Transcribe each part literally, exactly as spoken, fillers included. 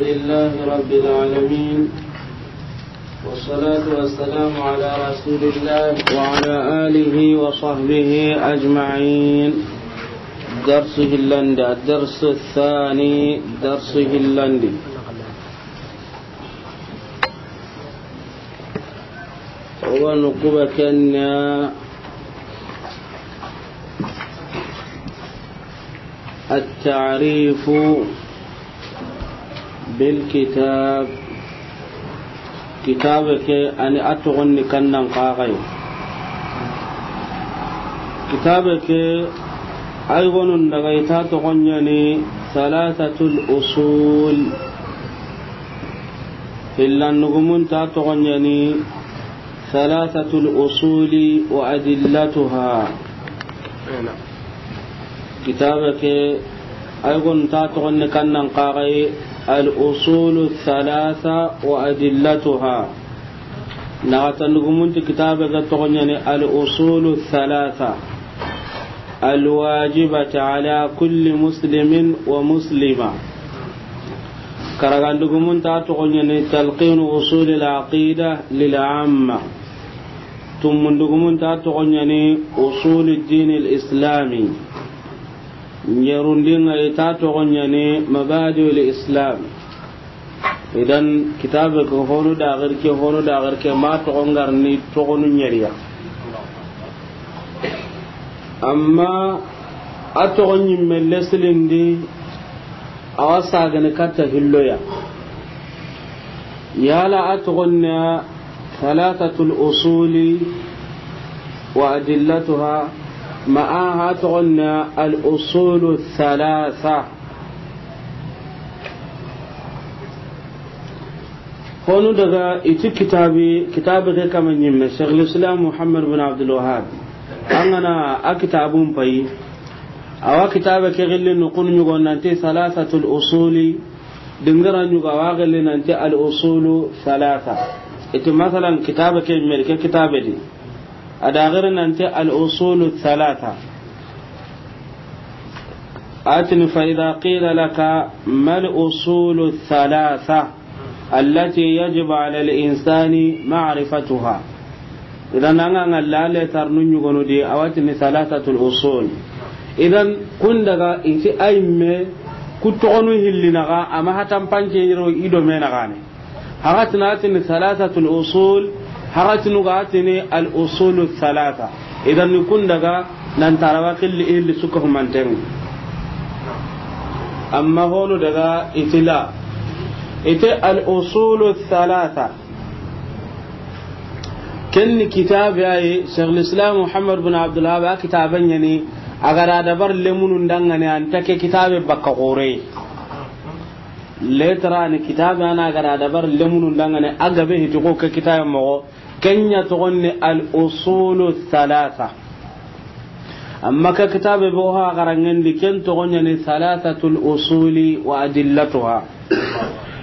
لله رب العالمين، والصلاة والسلام على رسول الله وعلى آله وصحبه أجمعين. درس هلاندي، الدرس الثاني، درس هلاندي. Wo ga na ku ba ken ŋa, التعريف بالكتاب. Kitaabe ke, a ni a toxon ni kannan xaxaye. Kitaabe ke, a yi gonun daga i ta toxon ɲa ni ثلاثة الأصول. Hillandugumun ta toxon ɲa ni ثلاثة الأصول وأدلتها. Kitaabe ke, a yi gonun ta toxon ni kannan xaxaye, الأصول الثلاثة وأدلتها. Naxatandugumun ti kitaabe ke toxon ɲa ni الأصول الثلاثة الواجبة على كل مسلم ومسلمة. Karagandugumun ta toxon ɲa ni تلقين أصول العقيدة للعامة. Tumundugumun ta toxon ɲa ni أصول الدين الإسلامي. Ɲerundinŋa i ta toxon ɲa ni مبادئ الإسلام. Idan, kitaabe ke honu da gir ke, honu da gir ke, ma toxon ga ri ni toxonu ɲeri ya. Amma a toxon ɲimme lesilindi, a wa sagani katta hillo ya. Yala a toxon na ثلاثة الأصول وأدلتها، ma a ha toxon na الأصول الثلاثة. Honu daga i ti kitaabi, kitaabi ke kama ɲimme, Cheikh l'Islam Muhammad bin Abdul Wahhab. An ga na a kitaabun payi, a wa kitaabe ke gilli no kun ɲugo nanti ثلاثة الأصول. Dingira ɲugo a wa gilli nanti الأصول الثلاثة. I ti masalan kitaabe ke meri ke kitaabe di. A da giri nanti الأصول الثلاثة. A ti ni فإذا قيل لك ما الأصول الثلاثة التي يجب على الإنسان معرفتها. Idan an ga ŋalla le tarnu ɲugonu di, a wa ti ni ثلاثة الأصول. Idan kun daga i ti a yimme ku toxonu hilli naxa, a ma hatan pance yiro i do me naxane. Haxatinu a ti ni ثلاثة الأصول, haxatinu ga a ti ni الأصول الثلاثة. Idan ni kun daga nan tarawa xilli hilli suka humanten. Amma honu daga i ti la, i ti الأصول الثلاثة. Ken ni kitaabe ya yi, Cheikh l'Islam Muhammad bin Abdul Wahhab a kitaabe ɲa ni, a ga da dabar lemunun danŋa ni, an ta ke kitaabe bakka xore. Letra ni kitaabe a na ga da dabar lemunun danŋa ni, a gabe hiti ko ke kitaabe moxo, ken ɲa toxon ni الأصول الثلاثة. Amma ke kitaabe be o ha garanŋen di, ken toxon ɲa ni ثلاثة الأصول وأدلتها.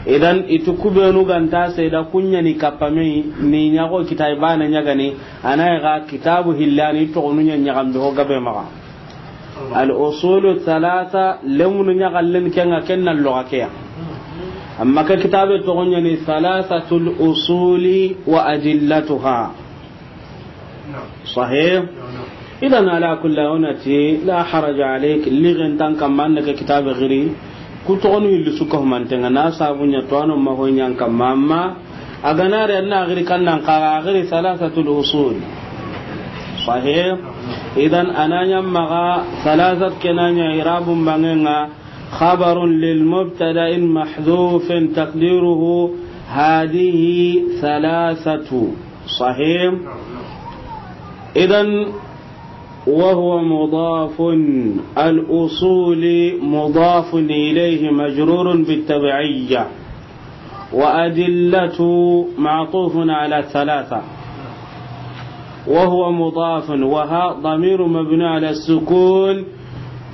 Idan i ti ku benu ga nta seeda kun ɲa ni kappame ni ɲa xo kitaabe baane ɲa ga ni, a na yi ga kitaabu hillani toxonu ɲa ɲaxambe ho gabe maxa. الأصول الثلاثة, lemunu ɲaxallen ke ŋa ken na loxa ke ya. Amma ke kitaabe toxon ɲa ni ثلاثة الأصول وأدلتها. Sahih. Idan ala kulli, o na ti لا حرج عليك, ligen nta an kamma an na ke kitaabe giri. Ku toxonu hilli suka humanten ŋa, na sabu ɲa to a no ma ho ɲa an kamma, amma a ga na ri an na giri kannan xaxa, a giri ثلاثة الأصول. Sahih. Idan a na ɲa maxa ثلاثة ke na ɲa i'rabun banŋen ŋa خبر لمبتدأ محذوف تقديره هذه ثلاثة. Sahih. Idan وهو مضاف، الأصول مضاف إليه مجرور بالتبعية، وأدلة معطوف على ثلاثة، وهو مضاف، وها ضمير مبني على السكون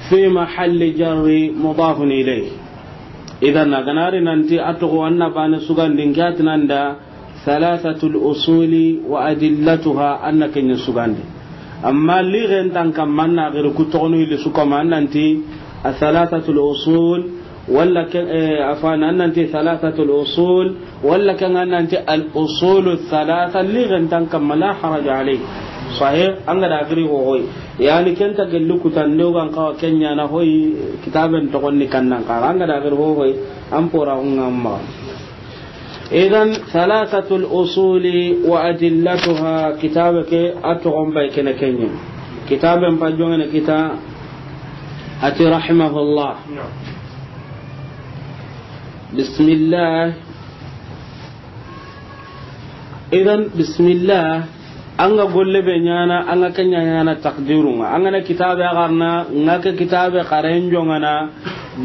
في محل جر مضاف إليه. Idan a ga na ri nanti a toxo an na baane sugandi, n ke a ti nan da ثلاثة الأصول وأدلتها, an na ken ɲa sugandi. Amma ligen nta an kamma, an na giri ku toxonu hilli suka ma, an nan ti الثلاثة الأصول Walla ke, eh, afwan, an nanti thalathatul usul, walla ke an nanti al usulu thalatha, li gantan kamma, la haraja alayhi. Sahih, an ga da giri ho hoy. Yani ken ta gelli kutan de o gan kawa ken ɲa na hoy, kitaben toxon ni kannan kaga. An ga da giri ho hoy, an pora hunga ma. Idan, thalathatul usuli wa adillatuha, kitabe ke a toxon bay kene kenye. Kitaben pa jongene kita, ati rahimahullah. Bismillah. Idan, bismillah, an ga golle be ɲana, an ga kenya ɲana takdirun ŋa. An ga na kitabe a garna, nga ke kitabe xaren jongana,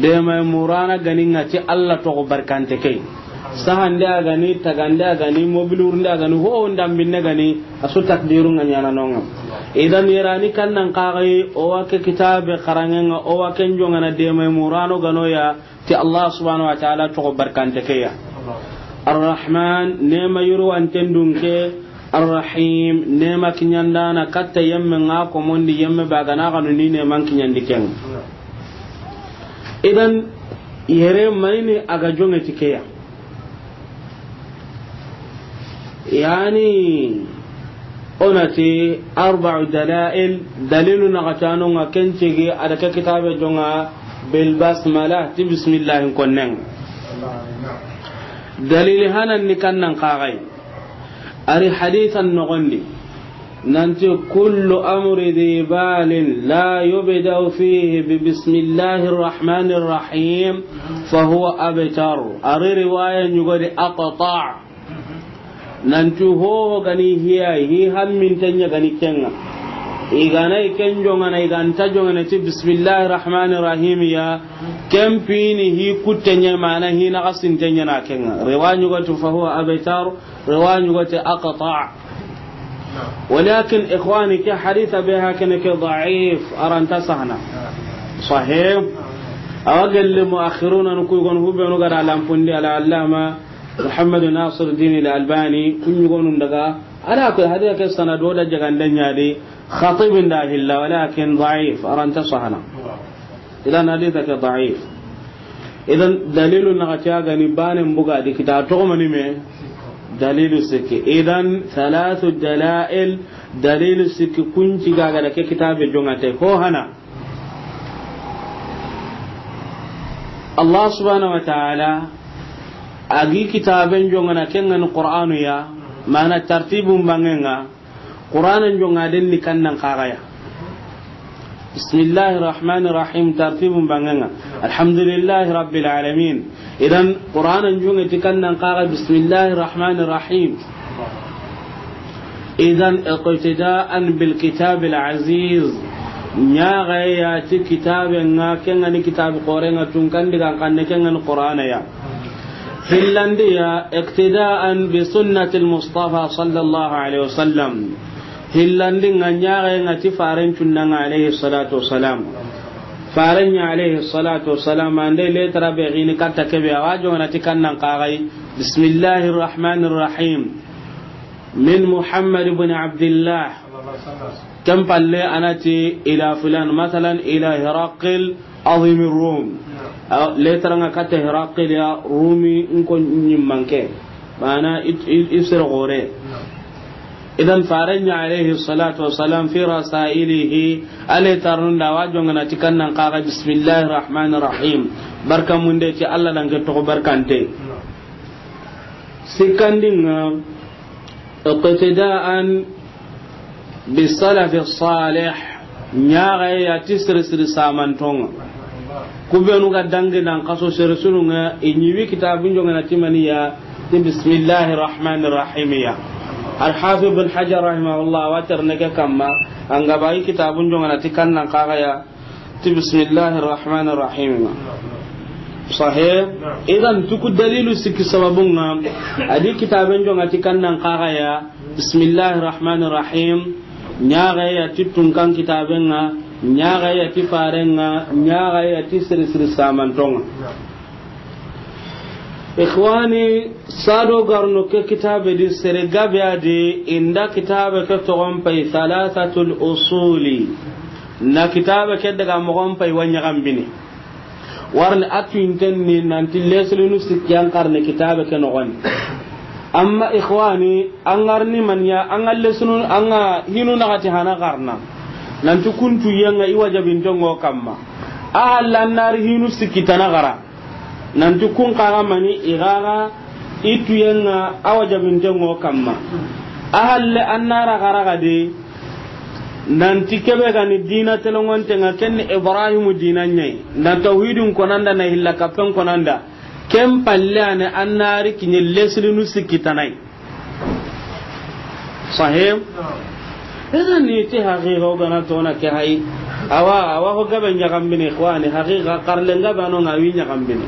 de may murana gani nga ti Allah toxo barkante ke. Sahande a gani, tagande a gani, mobilurunde a gani, ho ndambinne gani, a su takdirun ŋa ɲana nonga. Idan yerani kannan kagai, o wa ke kitabe xarangenga, o wa ken jongana de may murano gano ya, ti Allah subhanahu wa ta'ala toxo barkante ke ya. Arrahman, nema yurwanten dunke, Arrahim, nema kiɲandana katta yemme nga komondi yemme ba gana ganu ni neman kiɲandi ken. Idan, yere mayni a ga jonge ti ke ya. Yani, o na ti arba'u dalail, dalilu na gatano nga ken cege a da ke kitabe jonga bil basmala, ti bismillahin konnen. Dalili hanan ni kannan kagai. Ari hadisan nogondi. Nanti kullu amri dhi balin la yubda'u fihi bi bismillahir rahmanir rahim fa huwa abtar. Ari riwaya ɲugodi aqta. Nanti ho gani hiya, hi hamminten ɲa gani kenga. Igana i ken jongana, iganta jongana ti bismillahir rahmanir rahim ya, ken pini hi kutten ɲa, mana hi na gasinten ɲa na kenga. Riwaya ɲugoti fa huwa abtar, riwaya ɲugoti aqta. Walakin ikhwani, ke haditha be hakene ke da'if, aranta sahana. Sahih. Awa gelle muakhiruna nu kuy gon hubenu gara lampundi al allama Muhammad Nasiruddin al-Albani, kuɲugonun daga, ala ko haditha ke sanado da jagande ɲadi, Khatib nda hilla, walakin da'if, aranta sahana. Idan haditha ke da'if. Idan dalilu na ga gani bane mbuga di kita toxo mani me, dalilu sikki. Idan thalathu dalail, dalilu sikki kunci gaga da ke kitabe jongate. Ho hana. Allah subhanahu wa ta'ala a gi kitaben jongana kengani Qur'anu ya, mana tartibun bangenga, Qur'anan jonga den ni kannan kagaya. Bismillahir rahmanir rahim, tartibun bangenga. Alhamdulillahi rabbil alamin. Idan Qur'anan jonga ti kannan kaga bismillahir rahmanir rahim. Idan iqtida'an bil kitabil aziz. Ɲaga ya ti kitabe nga kengani kitabe korenga tunkan digan kanne kengani Qur'ana ya. Hillandi ya, iqtida'an bi sunnatil Mustafa sallallahu alaihi wasallam. Hillandi nga ɲaga nga ti faren cunnanga alaihi salatu wasalam. Faren ɲa alaihi salatu wasalam, ande letara be gini katta kebe, awa jongana ti kannan kagai. Bismillahir rahmanir rahim. Min Muhammad ibn Abdillah. Ken palle anati ila fulan, masalan, ila Hiraqil azimi Rum. Aw, letara nga katta Hiraqil ya, Rumi nko ɲimmanke. Mana it-, it-, isere gore. Idan faren ɲa alaihi salatu wasalam fi rasailihi, ale tarnunda wa jongana ti kannan kaga bismillahir rahmanir rahim. Barka munde ti Allah dan ke toxo barkante. Sikkandinga, iqtida'an bi salafi salih, ɲaga ya ti siri siri samantonga. Kubenu ga dangi nan kaso siri sununga, i ɲiwi kitabun jongana ti maniya, ti bismillahir rahmanir rahim ya. Al Hafiz bin Hajar rahimahullah, wa terne ke kamma, anga bayi kitabun jongana ti kannan kaga ya, ti bismillahir rahmanir rahim. Sahih. Idan tuku dalilu sikki sababunga, adi kitaben jonga ti kannan kaga ya, bismillahir rahmanir rahim. Ɲaga ya ti tunkan kitabenga, ɲaga ya ti farenga, ɲaga ya ti siri siri samantonga. Ikhwani, sado garno ke kitabe di sere gabe adi inda kitabe ke togon pay thalathatul usuli. Na kitabe ke daga mogon pay wa ɲagambini. Warni a tuyinten ni nanti lesilinu sikki an xarne kitabe ke noxon di. Amma ikhwani, an ga ri ni maniya, an ga lesilinu, an ga hinu naxati hana xarana. Nanti kun tuyen ŋa i wajabinten ŋo kamma. A halla an na ri hinu sikki tana xara. Nanti kun xa ga mani i ga ga i tuyen ŋa a wajabinten ŋo kamma. A halle an na ra xara ga de. Nanti kebe ga ni dina telongonten ŋa, ken ni Ibrahimu dina ɲa yi. Na tawhidin konanda, na hilla kappen konanda. Ken palle a ni an na ri kiɲe lesilinu sikki tana yi. Sahih? Ina ni ti haqiqa o ga na tona ke hayi. Awa, awa ho gabe ɲaxambini, ikhwani, haqiqa xarlen gabe a no ŋa wi ɲaxambini.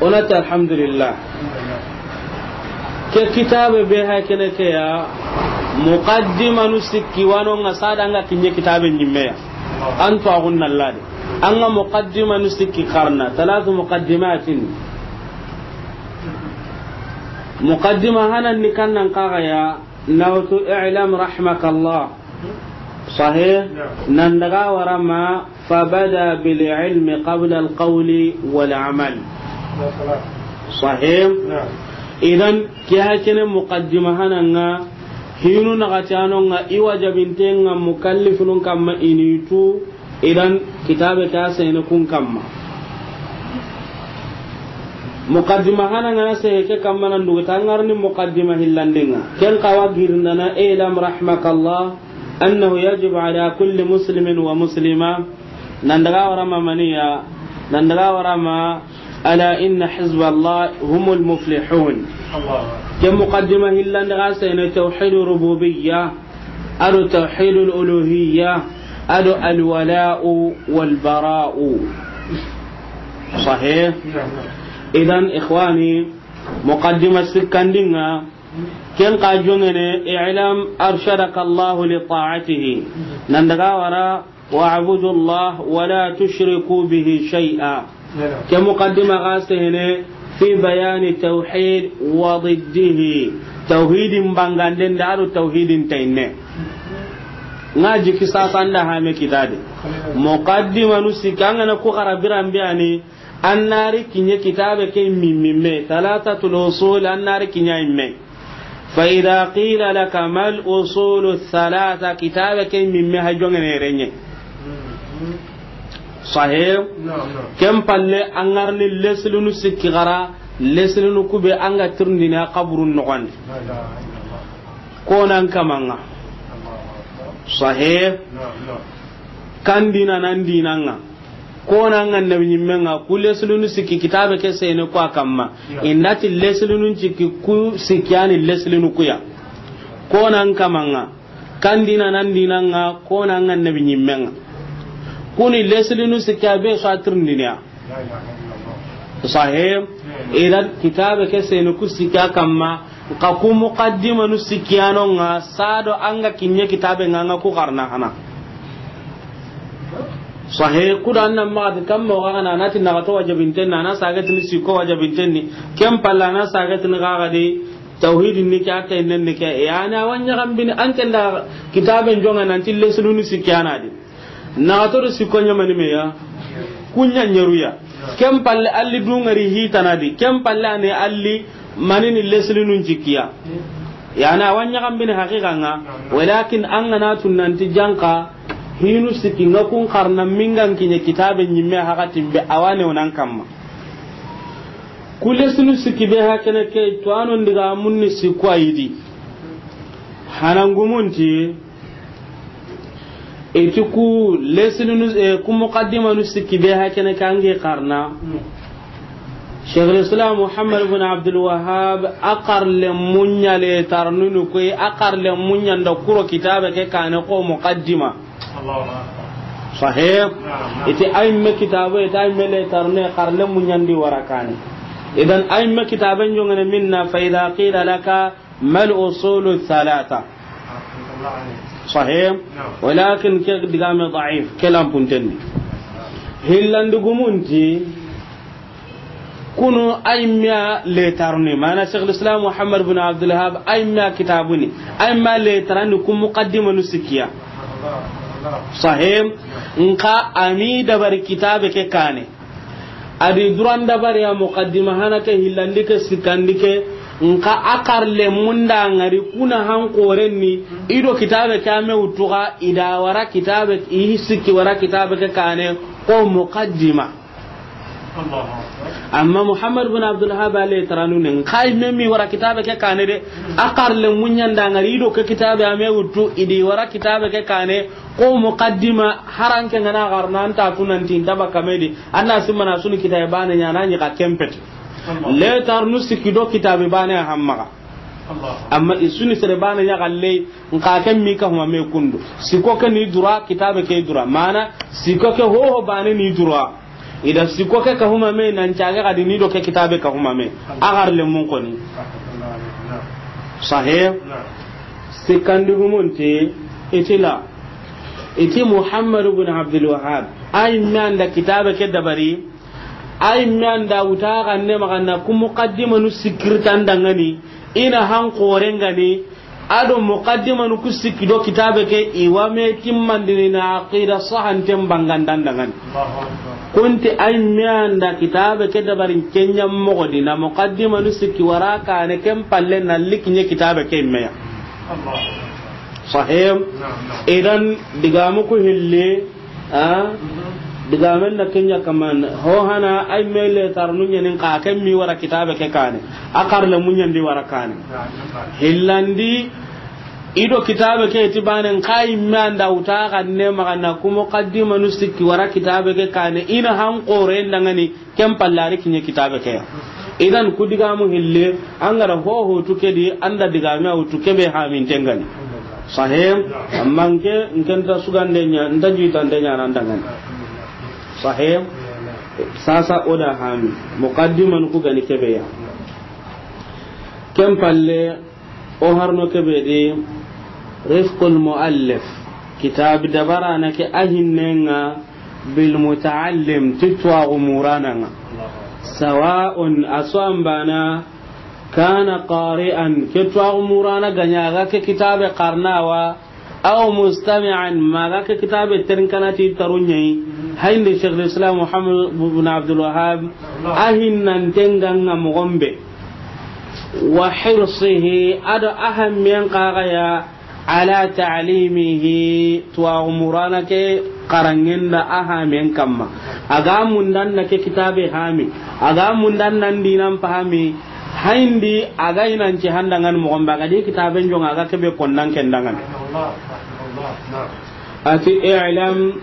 O na ti alhamdulillah. Ke kitabe be ha kene ke ya, muqaddimanu sikki wa no ŋa sada an ga kiɲe kitabe ɲimme ya. An to agun nallade. An ga muqaddimanu sikki xarana, talatu muqaddimatin. Muqaddima hanan ni kannan xa ga ya, na wutu i'lam rahmakallah. Sahih? Nan daga wara ma, fabada bil ilmi qabla al qawli wal amal. Sahih? Idan, ke ha kene muqaddima hanan ŋa, hinu naxati a no ŋa i wajabinten ŋa mukallifinun kamma i ni tu, idan kitabe ke a sene kun kamma. Muqaddima hanan ŋa na sehe ke kamma nan dugu ta an ga ri ni muqaddima hillanden ŋa. Ken xa wa girindana, i'lam rahmakallah, annahu yajibu ala kulli muslimin wa muslima. Nan daga wara ma maniya, nan daga wara ma, ala inna hizballah humul muflihun. Ke muqaddima hillande ga sene tawhid rububiyya, ado tawhid uluhiyya, ado al wala'u wal bara'u. Sahih? Idan ikhwani, muqaddima sikkandinga, ken xa jongene, i'lam arshadaka Allah li ta'atihi. Nan daga wara, wa'budu Allah wa la tushriku bihi shay'a. Ke muqaddima ga sehene fi bayani tawhid wa diddihi. Tawhidin banganden da ado tawhidin tayinne. Nga jiki sasanda hame kitade. Muqaddima nu sikanga na ku xara biran biyani. An na ri kiɲe kitabe ke mimmimme, talatatul usul, an na ri kiɲa imme. Fa idha qila laka mal usulu thalatha, kitabe ke mimme ha jongene renye. Sahih? Ken palle an ga ri ni leslinu sikki xara, leslinu kube an ga tirindini a kaburun noxondi. Konan kamanga. Sahih? Kan dina nan dinanga. Konan ga nabi ɲimmenga, ku leslinu sikki kitabe ke sene ku a kamma. Indati leslinu sikki ku sikki ani leslinu kuya. Konan kamanga, kan dina nan dinanga, konan ga nabi ɲimmenga. Kuni leslinu sikki a be so a tirindiniya. Sahih? Idan kitabe ke sene ku sikki a kamma. Nka ku muqaddimanu sikkiyanonga sado anga kiɲe kitabe nga, anga ku xarana hana. Sahih, kuda annan maxati kamma o xaxana, anati naxato wajabinten ni, ana sagetini sikko wajabinten ni, ken palla ana sagetini xaxadi tawhidin ni ke, a tayinnen ni ke, yani a wa ɲaxambini an ken da kitaben jonga nanti leslunu sikkiyanadi. Naxato do sikko ɲamani meya, kuɲa ɲeruya. Ken palle alli dungari hitanadi, ken palle ane alli manini leslinun cikkiya. Yani a wa ɲaxambini haqiqa nga, walakin an gana tunanti janka hinu sikki nga kun xarana mingan kiɲe kitabe ɲimme haqatin be a wa ne wonan kamma. Ku leslinu sikki be hakene ke to anon diga munni sikko ayidi. Hanangumunti Iti ku leslinu, eh, ku muqaddimanu sikki be hakene kangi xarana. Sheikhul Islam Muhammad ibn Abdul Wahhab a xarle muɲa le tarnunu koy, a xarle muɲa nda kuro kitabe ke kane ko muqaddima. Sahih. Iti ay me kitabe, iti ay me le tarne xarle muɲa ndi warakane. Idan ay me kitabe njongene minna fa idha qila laka Mal usulu thalatha. Sahih. Walakin ke digame da'if, ke lampuntenni. Hillandi gumunti, kunu ay miya letaruni, mana Sheikhul Islam Muhammad bin Abdul Wahhab ay miya kitabuni, ay miya letarani ku muqaddimanu sikkiya. Sahih. Nka ami dabari kitabe ke kane. A di duran dabari ya muqaddima hana ke, hillandi ke, sikkandi ke, nka a karle munda ngari kuna han koren ni, i do kitabe ke a me wutu ga, i da wara kitabe, i sikki wara kitabe ke kane, ko muqaddima. Amma Muhammad bin Abdul Wahhab ale taranu ne, nka i me mi wara kitabe ke kane de, a karle munyanda ngari i do ke kitabe a me wutu, i di wara kitabe ke kane, ko muqaddima, haranke ngana garna anta tunanti ntaba kamedi, anna simana suni kitabe bane nya na nyi ka kempeti. Letarnu sikki do kitabe bane hammaga. Amma i suni sere bane nya galle, nka ken mi ka huma me kundu. Siko ke ni dura, kitabe ke dura. Mana, siko ke hoho bane ni dura. I da siko ke ka huma me nan caage ga di ni do ke kitabe ka huma me. A garle mun koni. Sahih. Sikkandi gumunti, itila. Iti Muhammad bin Abdul Wahhab. Ay me anda kitabe ke dabari. Ay me anda wuta ganne magana ku muqaddimanu sikkirtan dangani. I na han korengani. A do muqaddimanu ku sikki do kitabe ke i wa me timmandini na aqida sahanten bangandan dangani. Kunti ay me anda kitabe ke dabarin kenya mogodi na muqaddimanu sikki wara kane ken palle na likinye kitabe ke meya. Sahih. Idan digamu ku hilli, a? Digamen na kenya kaman. Ho hana ay me letarnu nyenin ka ken mi wara kitabe ke kane. A karle munyandi wara kane. Hillandi i do kitabe ke ti banen ka i me anda wuta ganne magana ku muqaddimanu sikki wara kitabe ke kane. I na han korendangani. Ken pallari kinye kitabe ke ya. Idan ku digamu hille, angara ho ho tu kedi, anda digame a wutu kebe hamin tengani. Sahih. Amma nke, nke nta sugande nya, nta juitande nya nan dangani. Sahih. Sasa o da hami. Muqaddiman ku gani kebe ya. Ken palle, o harno kebe di, Rifqul Muallif, kitab dabarana ke a hinnenga bil mutaallim, ti tuwaxu murananga. Sawa'un, a so an bana, kana qari'an, ke tuwaxu murana ga ɲa ga ke kitabe xarnawa, aw mustami'an, ma ga ke kitabe terinkana ti tarunɲayi. Hayndi Sheikh al-Islam Muhammad ibn Abdul Wahhab, a hinnantenganga moxon be. Wa hirsihi, a do a hammiyen xaxaya, ala ta'limihi, tuwaxu murana ke xarangenda a hamen kamma. A ga mundan na ke kitabe hami, a ga mundan nan dinan pahami, hayndi a ga inanci handangan moxon be, a ga di kitaben jonga, a ga kebe konnan kendangan. Ati i'lam,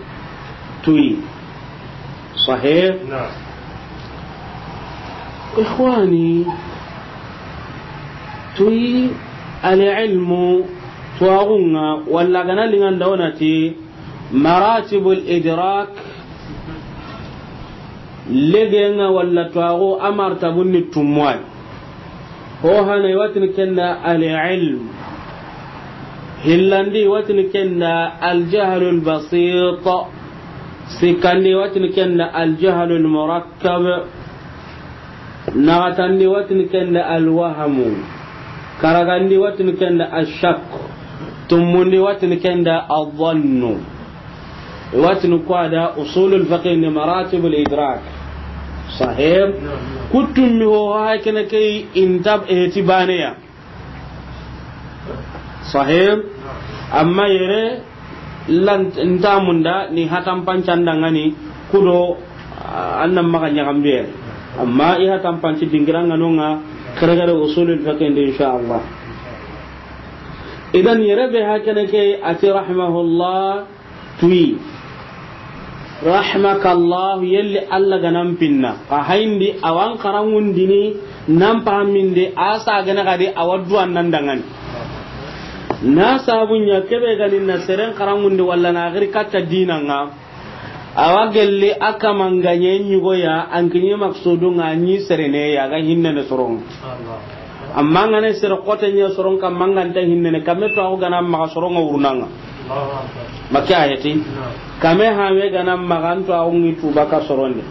tuyi. Sahih. Ikhwani, tuyi, al-ilmu, tuwaxunga, walla gana linganda wonati, maratibul idrak, legenga walla tuwaxu a martabun ni tummuwai. Ho hana i watini kenda al-ilm. Hillandi i watini kenda al-jahlul basit. Sikkandi i watini kenda al-jahlul murakkab. Naxatandi i watini kenda al-wahmu. Karagandi i watini kenda al-shak. Tummundi i watini kenda al-dhannu. Watini ko a da usulul fiqh ni maratibul idrak. Sahih. Kutum mi ho ha kene ke intab ehti baneya. Sahih. Amma yere lan ntamunda ni hatan pancandangani kudo, ah, annan maga ɲaxambe. Amma i hatan panci dingiranga nonga kere kere usulul fiqh ndi insha Allah. Idan yere be ha kene ke ati rahimahullah. Tuyi. Rahmakallah, yelli Allah ga nan pinna. Ka hayndi awan karangundini nan pahaminde a sa gana gadi awa duwan nan dangani. Na sabunya kebe gani na seren karangundi walla na giri katta dinanga. Awa gelli a kamanganye ɲugoya an kinye maksudunga ɲi serene ya ga hinnene soronga. Amma ngane sere xote ɲa soron kamma nganta hinnene kame to ago gana maxa soronga wurnanga. Makke ayeti. Kame hame gana maxa anto ago ngi tuba ka soronde.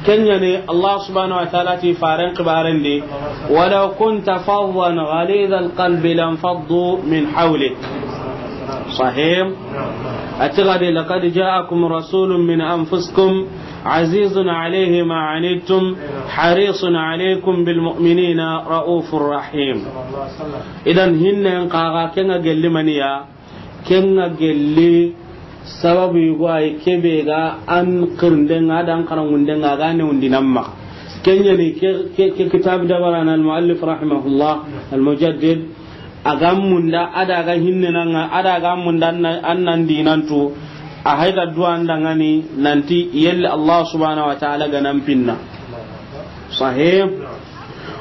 Kenyani Allah subhanahu wa ta'ala ti faren xibarendi. Walaw kunta faddan ghalidhal qalbi lanfaddu min hawlik. Sahih. Ati gadi, laqad ja'akum rasulun min anfusikum عزيز عليه ما عنتم حريص عليكم بالمؤمنين رؤوف رحيم. Idan hinnen kaga kenga gelli maniya, kenga gelli sababu yugo ay kebe ga an kirndenga dan karangundenga ga ne undinamma. Kenyani ke, ke, ke kitab dabarana al muallif rahimahullah al mujaddid. A ga munda, a da ga hinnenanga, a da ga munda an na, an nan dinantu, a hayda duwa ndangani nanti yelle Allah subhanahu wa ta'ala ga nan pinna. Sahih.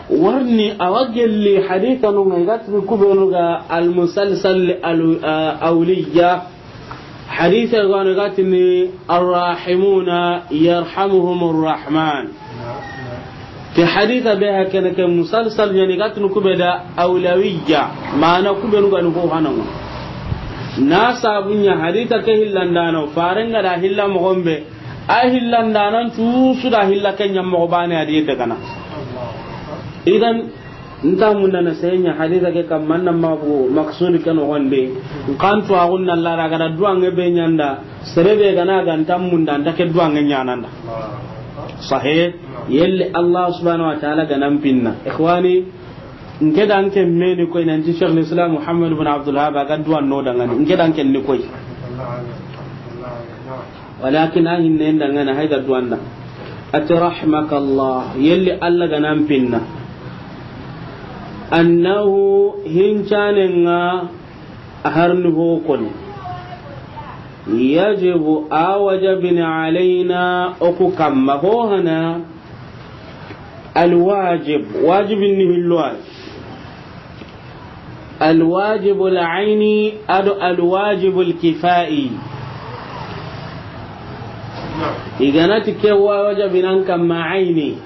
Warni awa gelli haditha nunga igatini kubenu ga al musalsal al, ah, awliya. Hadisa gano gatini, "Arrahimuna yarhamuhumur rahman." Ke hadisa be hakene ke musalsal yani gatini kubeda awlawiyya, mana kubenu gani ko hanango. Na sabunya hadisa ke hillandano, farenga da hilla mogombe, a hillandanan cusu da hilla kenya mogobane adiye dagana. Idan, nta munda na senya hadisa ke kam manna mabu maksudi ke no gonde. Kan to agun na lara ga da duwange be nyanda, serebe gana ga nta munda nta ke duwange nyananda. Sahih. Yelle Allah subhanahu wa ta'ala ga nan pinna. Ikhwani, nke dan ke meni koy nanti Sheikh al-Islam Muhammad ibn Abdul Wahhab ga duwan no dangani. Nke dan ke ni koy. Walakin a hinne ndangana hayda duwanda. Ati, "Rahmakallah, yelli Allah ga nan pinna." Annahu hincanenga a harni hokoni. Yajibu a wajabini alaina oku kamma ho hana. Alwajib, wajibin ni hillo ay. Alwajibul aini ado alwajibul kifai. Iganati ke wajabinan kamma aini.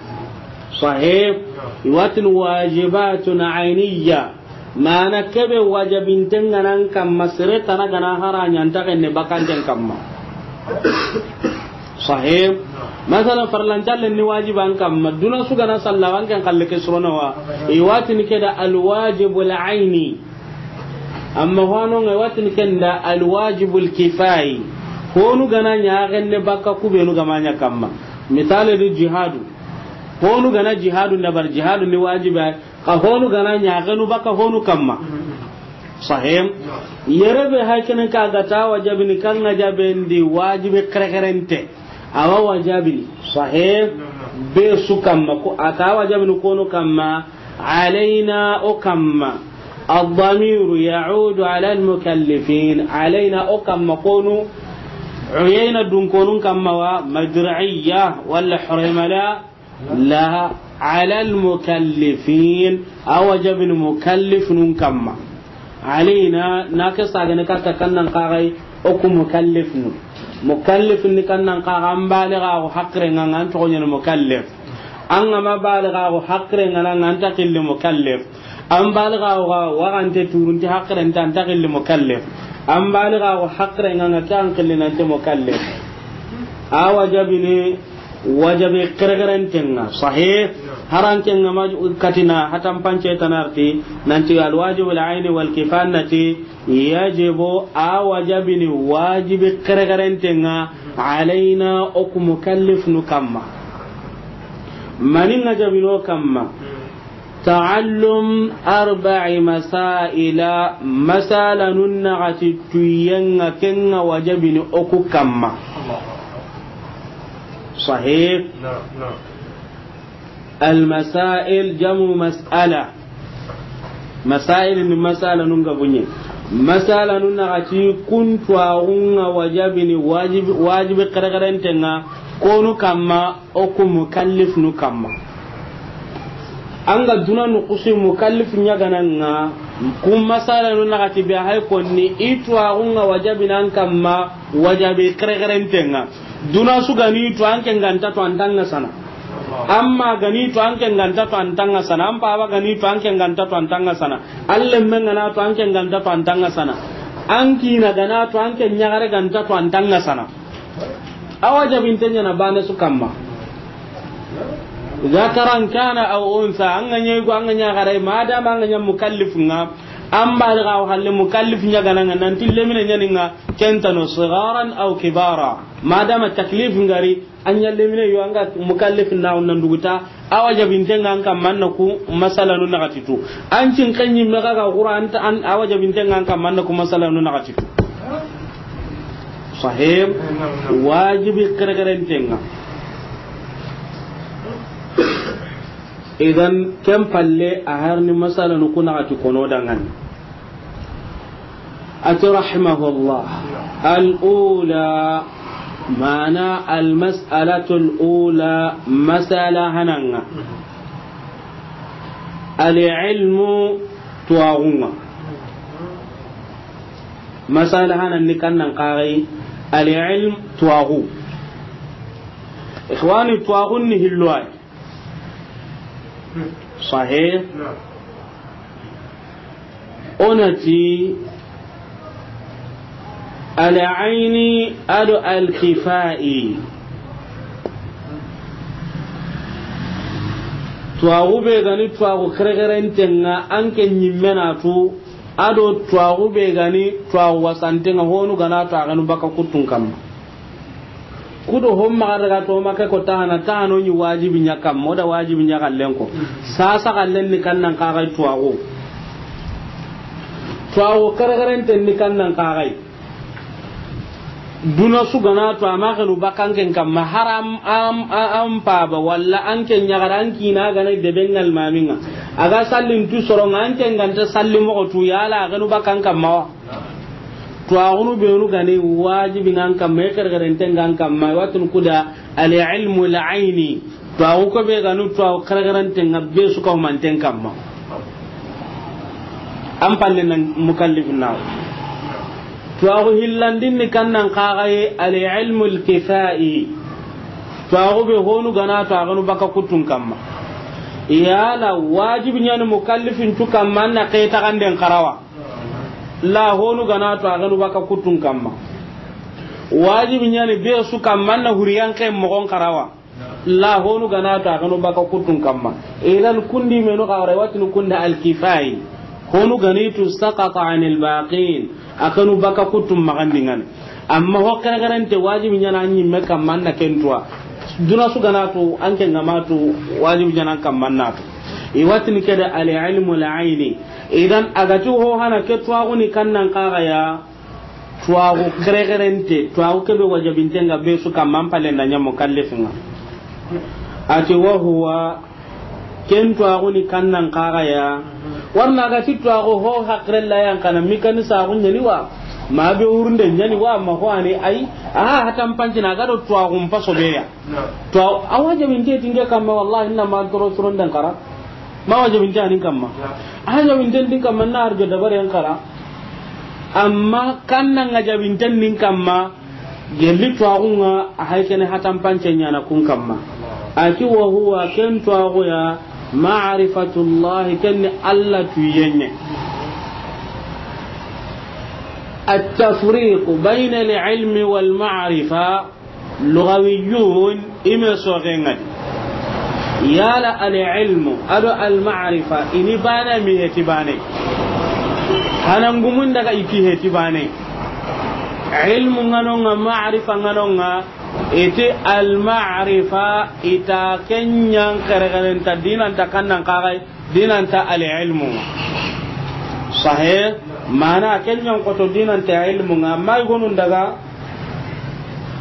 Sahih. Iwatin wajibatun ainiya. Mana kebe wajabintenga nan kamma sere tana gana haranya nta kenne bakanten kamma. Sahih. Masalan, farlancalle ni wajiban kamma, duna su gana salla, wanken kalle ke surono wa. Iwatini keda alwajibul aini. Amma hano ngai watini kenda alwajibul kifai. Honu gana nya genne baka kubenu gamanya kamma. Misale di jihadu. Honu gana jihadu ndabar jihadu ni wajiba. Ka honu gana nya genu baka honu kamma. Sahih. Yerebe haykene ka gata wajabini kanga jabendi wajibi kerekerente. Awa wajabini. Sahih. Be su kamma ko ata wajabini kono kamma. Alaina o kamma. الضمير يعود على المكلفين. Alaina o kamma konu. Uyayna dun konun kamma wa madri'iyya wala hurmala. La, ala al-mukallifin, a wajabini mukallifnun kamma. Alaina, na ke sagane katta kannan kagai, oku mukallifnu. Mukallifni kannan kaga, an baliga ko hakre nga, an toxo ɲani mukallif. An ga ma baliga ko hakre nga, an ta killi mukallif. An baliga ko waxante turunti hakre nta, an ta killi mukallif. An baliga ko hakre nga, ke an killi nanti mukallif. A wajabini wajabi kerekerentenga, sahih. Harankenga maj katina hatan pance tanarti, nanti alwajibu al-aini wal kifaya nati, yajibu a wajabini wajibi kerekerentenga, alaina oku mukallifnu kamma. Maninga jabino kamma. Ta'allum arba'i masaila, masalanun naxati tuyenga kenga wajabini oku kamma. Sahih. Naam, naam. Al masail jamu mas'ala. Masail ni masalanun ga bunye. Masalanun naxati kuntuwaxunga wajabini wajibi, wajibi kerekerentenga konu kamma. Oku mukallifnu kamma. Anga duna nukusi mukallif ɲagananga, kun masalanu naxati be hay konni, i tuwaxunga wajabinan kamma, wajabi kerekerentenga. Duna sugani tu anke nganta tu antanga sana. Amma gani tu anke nganta tu antanga sana. An paba gani tu anke nganta tu antanga sana. An lemme ngana tu anke nganta tu antanga sana. An kina gana tu anke ɲagare ganta tu antanga sana. A wajabinten ɲana bane su kamma. Zakaran kana aw unsa, an ga ɲa go, an ga ɲa gare, madama an ga ɲa mukallif nga, An baliga wa halle mukallif ɲa ga na ŋa, nanti lemine ɲa ni ŋa, ken ta no, sigaran aw kibara. Madama taklif ŋa ri, an ɲa lemine yo, an ga mukallif na nan duguta, a wajabinten ŋa an kamma na ku masalanu naxati tu. An cin xenɲi me ga ga Qur'an ta, an a wajabinten ŋa an kamma na ku masalanu naxati tu. Sahih. Wajibi kerekerenten ŋa. Idan ken palle a harni masalanu ku naxati kono danŋani. Ati rahimahullah. Al-ula, mana al-mas'alatu al-ula, masala hana ŋa. Al-ilmu, tuwaxu ŋa. Masala hana ni kannan kaxay, al-ilm, tuwaxu. Ikhwani, tuwaxun ni hillo ay. Sahih. Onati al-ayni ado al-kifai. Tuwaxu be ga ni tuwaxu kerekerenten ŋa, an ke ɲimme na tu, ado tuwaxu be ga ni tuwaxu wasanten ŋa, honu ga na tu a ga nu baka kuttun kamma. Kudo hon maxa daga to ma ke ko tahana, tahano ɲi wajibi ɲa kamma, o da wajibi ɲa xallen ko. Sasa xallen ni kannan kaxay tuwaxu. Tuwaxu kerekerenten ni kannan kaxay. Duna su ga na tu a ma xenu baka an ken kamma, haram am, am, am paba, walla an ken ɲaxara, an kina ga na debe ŋa almamin ŋa. A ga sallin tu soro ŋa, an ken ga nta salli moxo tu, yala a xenu baka an kamma wa. Tuwaxunu benu ga ni wajibi ŋa an kamma, i kerekerenten ŋa an kamma, i wa tunu ku da al-ilmu al-ayni. Tuwaxu ko be ga ni tuwaxu kerekerenten ŋa, be su ka humanten kamma. An palle na mukallif na. Tuwaxu hillandin ni kannan kaxaye al-ilmu al-kifai. Tuwaxu be honu ga na tu a ga nu baka kuttun kamma. Yala wajibi ɲa ni mukallifin tu kamma na ke taxanden xarawa. La honu ga na tu a ga nu baka kuttun kamma. Wajibi ɲa ni be su kamma na huriyan ke moxon xarawa. La honu ga na tu a ga nu baka kuttun kamma. Idan kundi menu xawra, i wa tunu kunda al-kifai. Honu ga ni tu saqata anil baqin. A ga nu baka kuttun maxandin ŋa ni. Amma ho kerekerente wajibi ɲa na ɲimme kamma na ken tuwa. Duna su ga na tu an ke ŋa ma tu, wajibi ɲa na an kamma na tu. I wa tunu ke da al-ilmu al-ayni. Idan a ga ti ho hana ke tuwaxu ni kannan kaxaya, tuwaxu kerekerente, tuwaxu ke be wajabinten ŋa be su kamma, an palle na ɲa mukallifin ŋa. Ati wa huwa, ken tuwaxu ni kannan kaxaya. Warna a ga ti tuwaxu ho hakre la yan kana, mikani saxu ɲa ni wa, ma be wurunde ɲa ni wa, ma ho ani ay, aha, hatan pancina ga do tuwaxun paso be ya. To, a wajabinte ti n ke kamma, wallahi, n na ma toro soron den xara. Ma wajabinte a ni n kamma. A wajabinte n di n kamma, n na arjo dabare n xara. Amma kannan ŋa jabinten ni n kamma, gelli tuwaxun ŋa, a hay kene hatan pance ɲa na kun kamma. A ti wa huwa, ken tuwaxu ya, ma'rifatullahi, ken ni Alla tuyen ɲa. At-tafriqu bayna al-ilmi wal ma'rifa. Lugawiyun, i me soxe ŋa di. Yala al-ilmu ado al-ma'rifa, i ni bane mi heti bane. Hanangumun daga i ti heti bane. Ilmu ŋa no ŋa, ma'rifa ŋa no ŋa, i ti al-ma'rifa, i ta ken ɲa n kerekerenta, di nan ta kannan kaxay, di nan ta al-ilmu. Sahih, mana ken ɲa n xoto di nan ta ilmu ŋa, ma i gonun daga,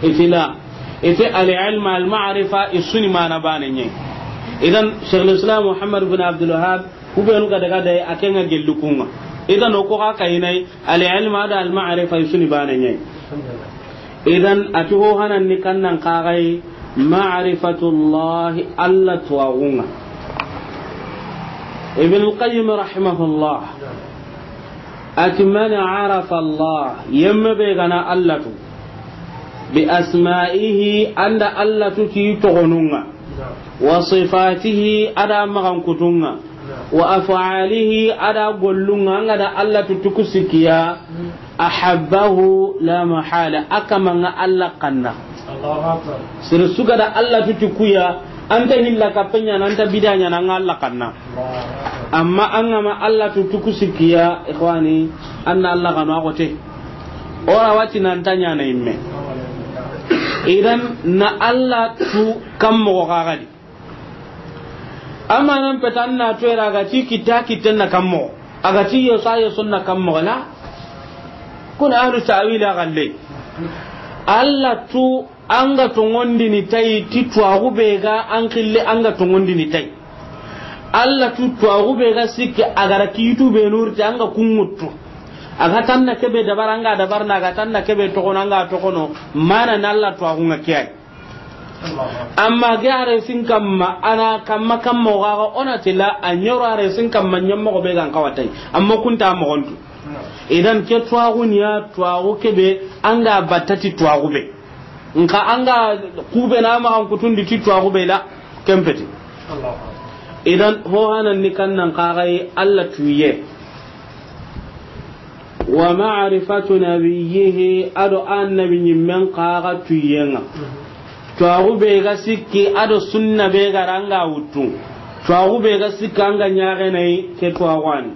i ti la. I ti al-ilm, al-ma'rifa, i su ni mana bane ɲa. Idan, Shaykhul Islam Muhammad bin Abdul Wahhab, ku benu ga daga day, a ken ŋa gelli kun ŋa. Idan, o ko xa kayinay, al-ilm ado al-ma'rifa, i su ni bane ɲa. Idan, a ti ho hanan ni kannan kaxay, ma'rifatullahi, Alla tuwaxun ŋa. Ibn al-Qayyim rahimahullah. A ti, man arafa Allah, yemme be ga na Alla tu, bi asma'ihi, a nda Alla tu ti toxonun ŋa, wa sifatihi, a da maxankutun ŋa, wa af'alihi, a da gollun ŋa, a ga da Alla tu ti ku sikki ya, ahabbahu la mahala, a kama ŋa Alla xanna. Sere su ga da Alla tu ti ku ya, An ta hilla kappe ɲaana, an ta bida ɲaana, an ga Alla xanna. Amma an ga ma Alla tu tuku sikkiya, ikhwani, an na Alla xanu a xote. O ra wa ti nan ta ɲaana yimme. Idan na Alla tu kan moxo xa ga di. Amanan peta an na toyera a ga ti kitta kitten na kan moxo. A ga ti yeso a yeson na kan moxo la. Kun ahlu ta'wil a galle. Alla tu an ga toŋondini tayi ti tuwaxu be ga an xille an ga toŋondini tayi. Alla tu tuwaxu be ga sikki a ga ra kiitu be nurti an ga kun ŋuttu. A ga tan na kebe dabari an ga dabarini, a ga tan na kebe toxono an ga toxono. Mana na Alla tuwaxu ŋa ke yi. Amma ge a resin kamma, a na kamma kamma o ga ga o na ti la a ɲoro a resin kamma ɲammoxo be ga n xawa tayi. Amma kun ta moxon tu. Idan ke tuwaxu ni ya tuwaxu kebe an ga batta ti tuwaxu be. Nxa an ga kube na ma an kutundi ti tuwaxu be la ken peti. Idan ho hanan ni kan nan xa ga yi Alla tuye. Wa ma'rifatu nabiyyihi, a do annabi ɲimmen xa ga tuye ŋa. Tuwaxu be ga sikki a do sunna be ga ra an ga wuttu. Tuwaxu be ga sikki an ga ɲaxene yi ke tuwaxu a ni.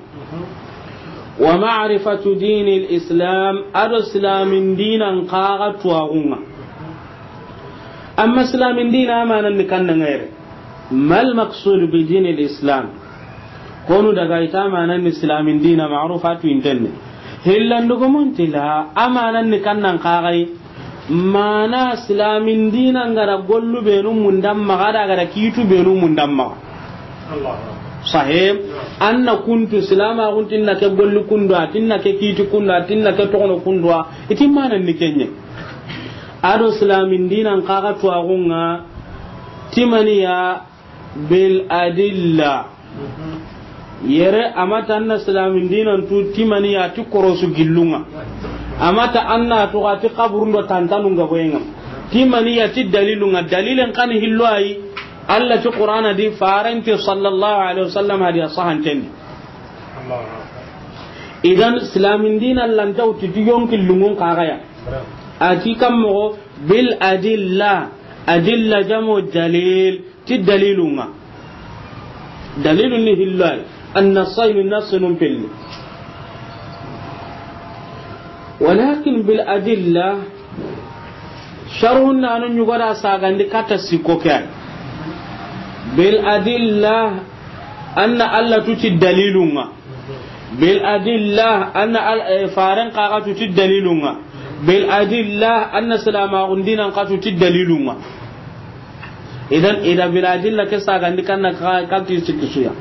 Wa ma'rifatu dinil islam, a do silamin dinan xa ga tuwaxu ŋa. Amma silamin dina amanan ni kan nan ŋa yere. Mal maqsud bi dinil islam? Honu daga i ta amanan ni silamin dina ma'rufa tu intenne. Hillandugumun ti la amanan ni kan nan xa ga yi. Mana silamin dina n ga ra gollu be nu mundan maxa da ga ra kiitu be nu mundan maxa. Sahib, an na kuntu silama guntin na ke gollu kundu, a tin na ke kiiti kundu, a tin na ke toxono kundu, a i ti manan ni ken ɲa. A do silamin dinan xa ga tuwaxu ŋa timaniya bil adilla. Yere a ma ta an na silamin dinan tu timaniya ti korosu gillu ŋa. A ma ta an na tu xa ti xaburun do tantanu ŋa boye ŋa. Timaniya ti dalilu ŋa, dalilen xa ni hillo a yi. Alla ti Qur'ana di, farenti sallallahu alaihi wasallam hadiya sahanten di. Idan silamin dinan lanta wuti ti yonki lungun xa ga ya. A ti kan moxo bil adilla, adilla jamu dalil, ti dalilu ŋa. Dalilu ni hillo a yi, an nassayni nassunun pilli. Walakin bil adilla, sharhun nanu ɲugo da sagandi katta sikko ke a yi. Bil adilla, an na Alla tu ti dalilu ŋa. Bil adilla, an na al-, eh, faren xa ga tu ti dalilu ŋa. Bil adilla, an na silamaxun dinan xa tu ti dalilu ŋa. Idan, ida bil adilla ke sagandi kan na ka-, kan ti sikki su ya.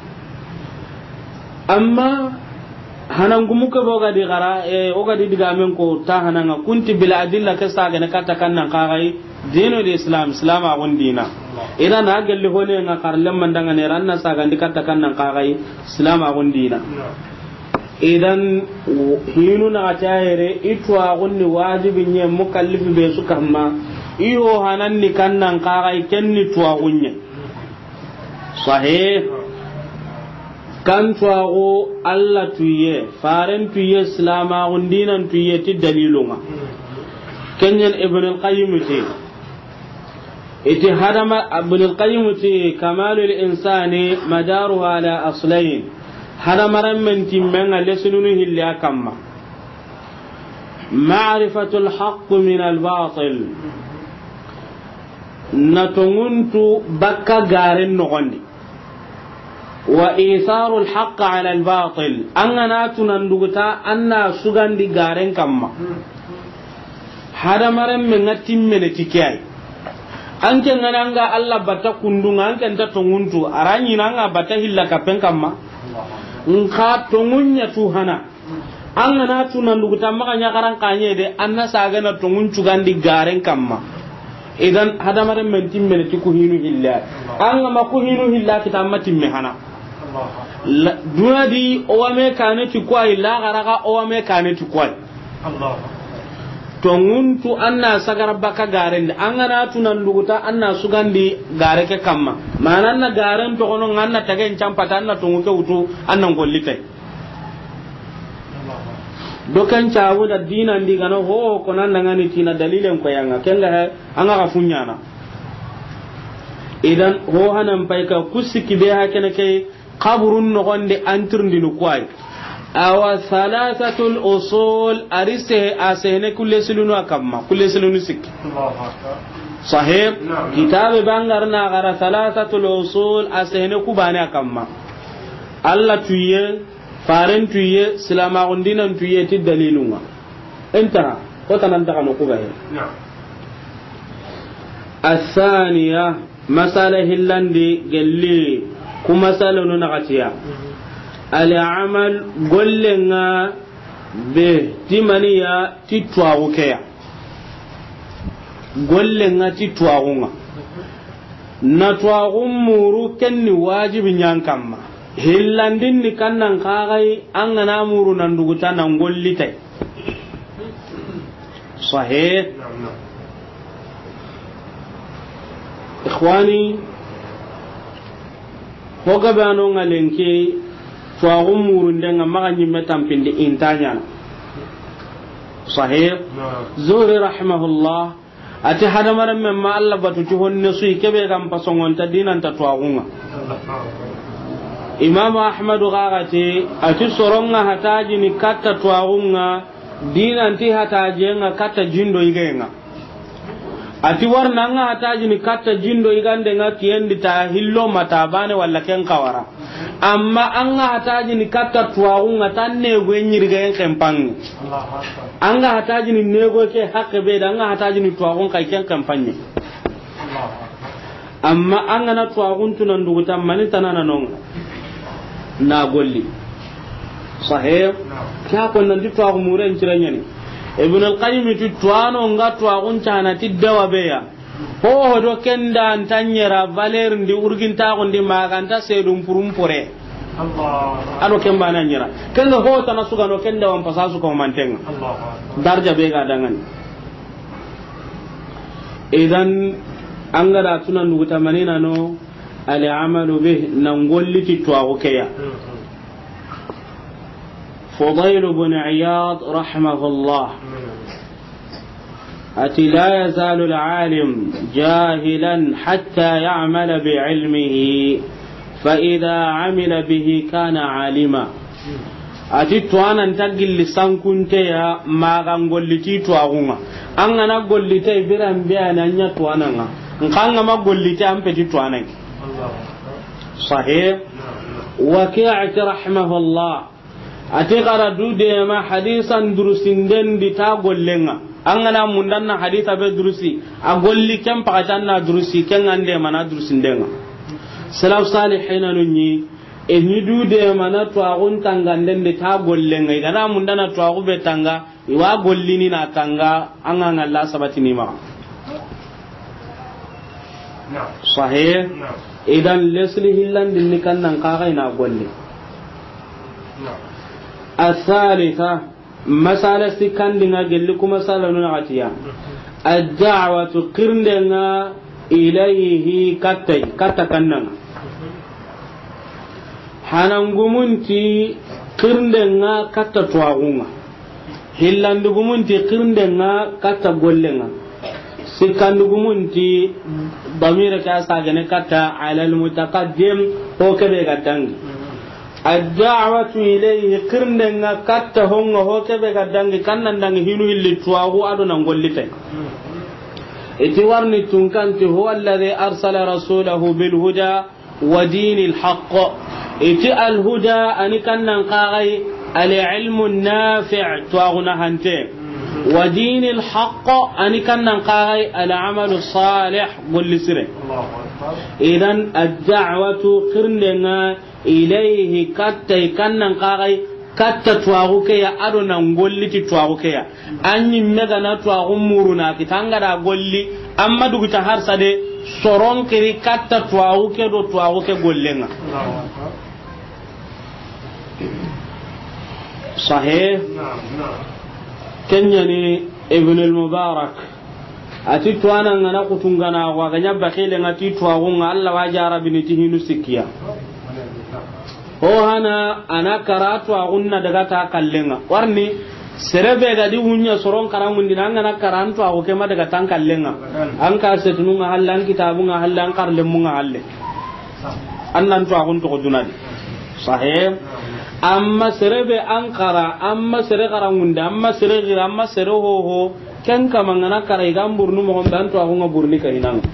Amma hanan gumu ke bo ga di xara, eh, o ga di digamen ko ta hanan ŋa, kun ti bil adilla ke sagane katta kan nan xa ga yi. Dinu di Islam, Islam a gun dina. Idan a gelli hone ŋa xar lemman dangane ran na sagandi katta kan nan xa ga yi Islam a gun dina. Idan hinu na ta yere i tuwaxun ni wajibi ɲa mukallifi be su kamma. I ho hanan ni kan nan xa ga yi ken ni tuwaxun ɲa. Sahih. Kan tuwaxu Alla tuye, faren tuye, silamaxun dinan tuye ti dalilu ŋa. Ken ɲa ni Ibn al-Qayyim ti. I ti hadama, Ibn al-Qayyim ti, kamalul insani madaruhu ala aslayn. Hadamarenmen timmen ŋa lesinunu hilli a kamma. Ma'rifatul haqqi min al-batil. Na toŋun tu bakka garen noxon di. Wa itharul haqqi ala al-batil. An ga na tu nan duguta an na sugandi garen kamma. Hadamarenmen ŋa timmene ti ke a yi. An ke ŋa na an ga Alla batta kundu ŋa, an ke nta toŋun tu, a ra ɲi na an ga batta hilla kappen kamma. Nxa toŋun ɲa tu hana. An ga na tu nan duguta maxa ɲaxaran xa ɲa de, an na saga na toŋun cugandi garen kamma. Idan hadamarenmen timmene ti ku hinu hilla. An ga ma ku hinu hilla kita an ma timme hana. La, duna di o wa me kane ti ku a yi, laxara ga o wa me kane ti ku a yi. Toŋun tu an na sagara bakka garen di. An ga na tu nan duguta an na sugandi gare ke kamma. Mana an na garen toxono ŋa an na tagen campata an na toŋu ke wutu an na n golli tay. Do ken cabu da dinan di gana ho ko nan daga ni tina dalilen ko ya ŋa. Ken ga he, an ga ga fuɲana. Idan, ho hanan pay ka ku sikki be ha kene ke, kaburun noxon di an tirindini ku yi. Awa, salasatul usul, a ri sehe, a sehene kulle silunu a kamma, kulle silunu sikki. Sahih? Naam. Kitabe bangar na gara salasatul usul, a sehene ku bane a kamma. Allah tuye, faren tuye, silamaxun dinan tuye, ti dalilunga. Intaha, ko tanan taxa no ku gaye. Naam. Asaniya, masala hillandi gelli, ku masalanu naxatiya. Al amal, gollenga be, ti maniya, ti tuwaxu keya. Gollenga ti tuwaxunga. Na tuwaxun muru kenni wajibi ñan kamma. Hillandin ni kannan kaxay, an gana muru nan duguta nan gollitay. Sahih. Naam, naam. Ikhwani, ho gabe ano nga lenki, tuwaxu murundenga maxa ñimme tampindi inta ñana. Sahih. Naam. Zuhri rahimahullah, a ti hadamaren men ma Allah batu ti honne su yi, kebe gan pasongonta dinanta tuwaxunga. Imam Ahmadu xaxati, a ti soronga hatajini katta tuwaxunga, dinanti hatajenga katta jindo yigenga. A ti warna anga hatajini katta jindo yigandenga kiyendi ta hillo mata bane walla ken kawara. Amma anga hatajini katta tuwaxunga ta negoye ñirigayen kempange. Anga hatajini negoye ke hakke be da, anga hatajini tuwaxun kay ken kempange. Amma an gana tuwaxun tunan duguta mani tanana nonga na golli. Sahih. Naam. Kya ko nanti tuwaxu muren cire ñani. Ibn al-Qayyim ti tuwano nga tuwaxun cana ti dawa beya. Ho ho do kenda antanyera valeur ndi urgintaxundi maganta sedum purum pore. Allah. Ado kemba na ñera. Kenga ho tana sugano kenda wan pasa su ko mantenga. Allah. Darja be ga dangani. Idan, an ga da tunan duguta manina no, al amalu bih, nan golliti tuwaxu keya. Fudail bin Iyad rahimahullah. A ti, لا يزال العالم جاهلا حتى يعمل بعلمه، فإذا عمل به كان عالما. A ti tuwanan ta gilli sankunteya magan golliti tuwaxunga. An gana gollite biran be a na ña tuwananga. Nkanga ma gollite an peti tuwanangi. Sahih. Waqi'ati rahimahullah. A ti xara du dema hadisan durusinden di ta gollenga. An gana mundanna hadisa be durusi, a golli ken pakati an na durusi, ken an dema na durusindenga. Salaf salihina nu ñi, e ñi du dema na tuwaxun tanganden di ta gollenga. I gana mundana tuwaxu be tanga, i wa gollini na tanga, an ga ngalla sabatini maxa. Sahih. Idan lesli hillandin ni kannan kaxa i na golli. Athalitha, masala sikkandinga gelli ku masala nu naxatiya. Ad-da'watu, xirndenga, ilayhi, kattay, katta kannanga. Hanangumunti xirndenga katta tuwaxunga. Hillandigumunti xirndenga katta gollenga. Sikkandigumunti damira ke a sagene katta alal mutaqaddim, ho kebe ga dangi. Ad-da'watu ilayhi, xirndenga katta honga ho kebe ga dangi, kannan dangi hinu hilli tuwaxu ado nan gollitay. Iti warni tunkanti, هو الذي أرسل رسوله بالهدى ودين الحق. Iti al-huda ani kannan kaxay al-ilmu nafi', tuwaxuna hante. ودين الحق ani kannan kaxay al-amalu salih, golli sire. Idan ad-da'watu, xirndenga, ilayhi, kattay kannan kaxay, katta tuwaxu keya ado nan golliti tuwaxu keya. An ñimme gana tuwaxu muruna kita an ga da golli, amma duguta harsa de, soron kiri katta tuwaxu ke do tuwaxu ke gollenga. Sahih. Kenyani Ibn al-Mubarak. A ti tuwana ngana kutungana wa ganya bakile nga ti tuwaxunga Allah wa jarabini ti hinu sikkiya. Ho hana ana kara tuwaxunna daga ta kallenga. Warni Sere be ga di wunya soron karangundi na, an ga na kara an tuwaxu ke ma daga tan kallenga. An ka setununga halle, an kitabunga halle, an karlemunga halle. An nan tuwaxun toxo dunadi. Sahe. Amma sere be an kara, amma sere karangundi, amma sere gira, amma sere hoho, ken kama an ga na kara i ga an burnu moxon be, an tuwaxunga burni ka hinanga.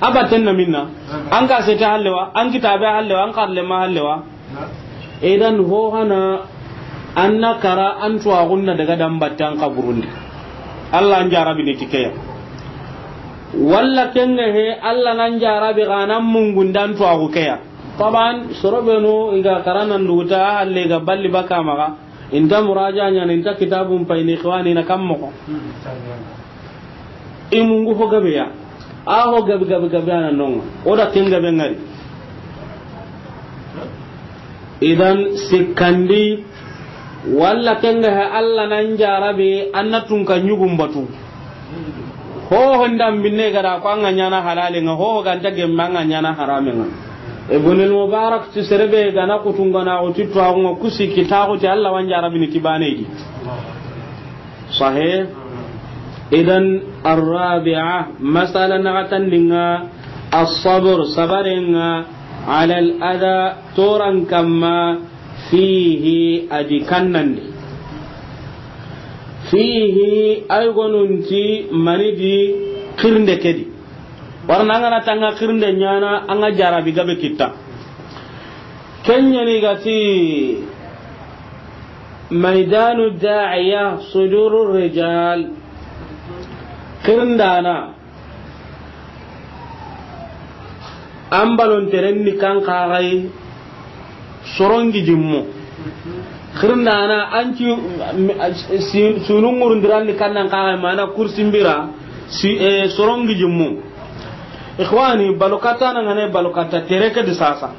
Abaten na minna. An ka sete hallewa, an kitabe hallewa, an karlema hallewa. Idan ho hana an na kara an tuwaxunna daga dan batte an kaburundi. Allah an jarabi ni tikeya. Walla kenga he Allah nan jarabi ga nan mungundan tuwaxu keya. Taban soro benu i ga karanan duguta halle ga balli baka maga. Inta muraja ɲana, inta kitabun payni, ikhwani na kammo ko. I mungu fo gabe ya. A ho gabe, gabe, gabe a na nonga. O da ken gabe ngari. Idan sikkandi, walla kenga he Allah nan jarabe, an na tunka ɲugun batu. Ho ho ndan binne ga da ko an ga ɲana halale nga, ho ho ganta gemme an ga ɲana harame nga. Ibn al-Mubarak ti sere be ga na kutunga na o ti tuwaxunga kusi kitaxu ti Allah wan jarabi ni ti bane di. Sahe. Idan arrabi'a, masala naxatandinga, as-sabr, sabarenga, ala al-adha, toran kamma, fihi, a di kannandi. Fihi, ay gonunti mani di, xirinde ke di. Warna an ga na tanga xirinde ɲana, an ga jarabi gabe kitta. Ken ɲani ga ti maydanu da'iya suduru rijal. Xirindana an balon teren ni kan kaxay sorongi jimmo. Xirindana an ci sunungurundiran ni kannan kaxay mana kursimbira si, eh, sorongi jimmo. Ikhwani, balokata na ngane balokata tere ke di sasa.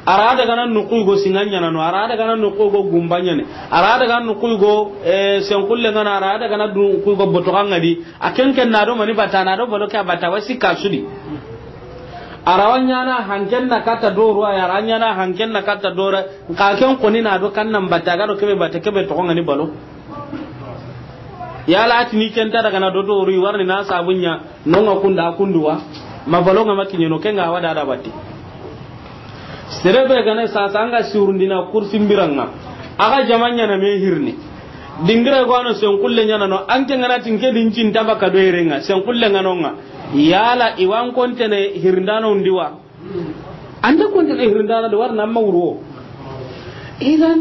Ara daga na nuku go singa ɲana no, ara daga na nuku go gumba ɲane, ara daga na nuku go, eh, senkulle ngana, ara daga na nuku go botoka ngadi. A ken ken na do mani bata, na do balo ke bata wasi kasudi. Ara wanyana hanken na kata doro ya, ara nyana hanken na kata doro. Ka ken koni na do kan nan bata ga do kebe bata kebe to ngani balo. Yala atini ken ta daga na do doro warni na sabunya. Nonga kunda kunduwa, ma balonga ma kiɲeno, kenga wada da batti. Sere be gane sasa anga surundina kursimbiranga. Aga jama ɲana me hirni. Dingira go ano senkulle ɲana no, anke ngana tinke din cinta baka do erenga, senkulle ngano nga. Yala iwan kontene hirndano ndiwa. Anda konte de hirindana de warna amma wuro. Idan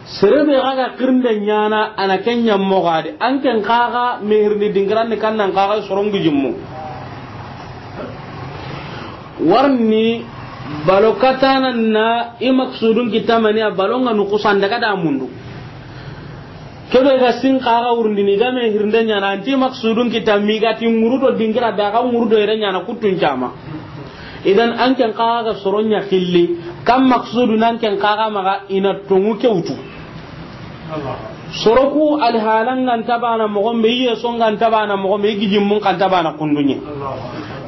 sere be ga ga xirinde ɲana ana ken ɲammo gade. An ken kaga me hirindi dingiran ni kannan kaga sorongi jimmu. Warni balo katana na i maksudun kitamani a balonga nu kusan daga da mundu. Kebe ga sin kaga wurundini ga me hirinde ɲana anti maksudun kita migati ŋuru do dingira be ga ŋuru do ire ɲana kutun jama. Idan an ken kaga ga soro ɲa xilli, kam maksudu nan ken kaga maga ina tongu kewtu. Soroku alhalan ngan tabana mogombe, iye songan tabana mogombe, igijimmun kan tabana kundunye.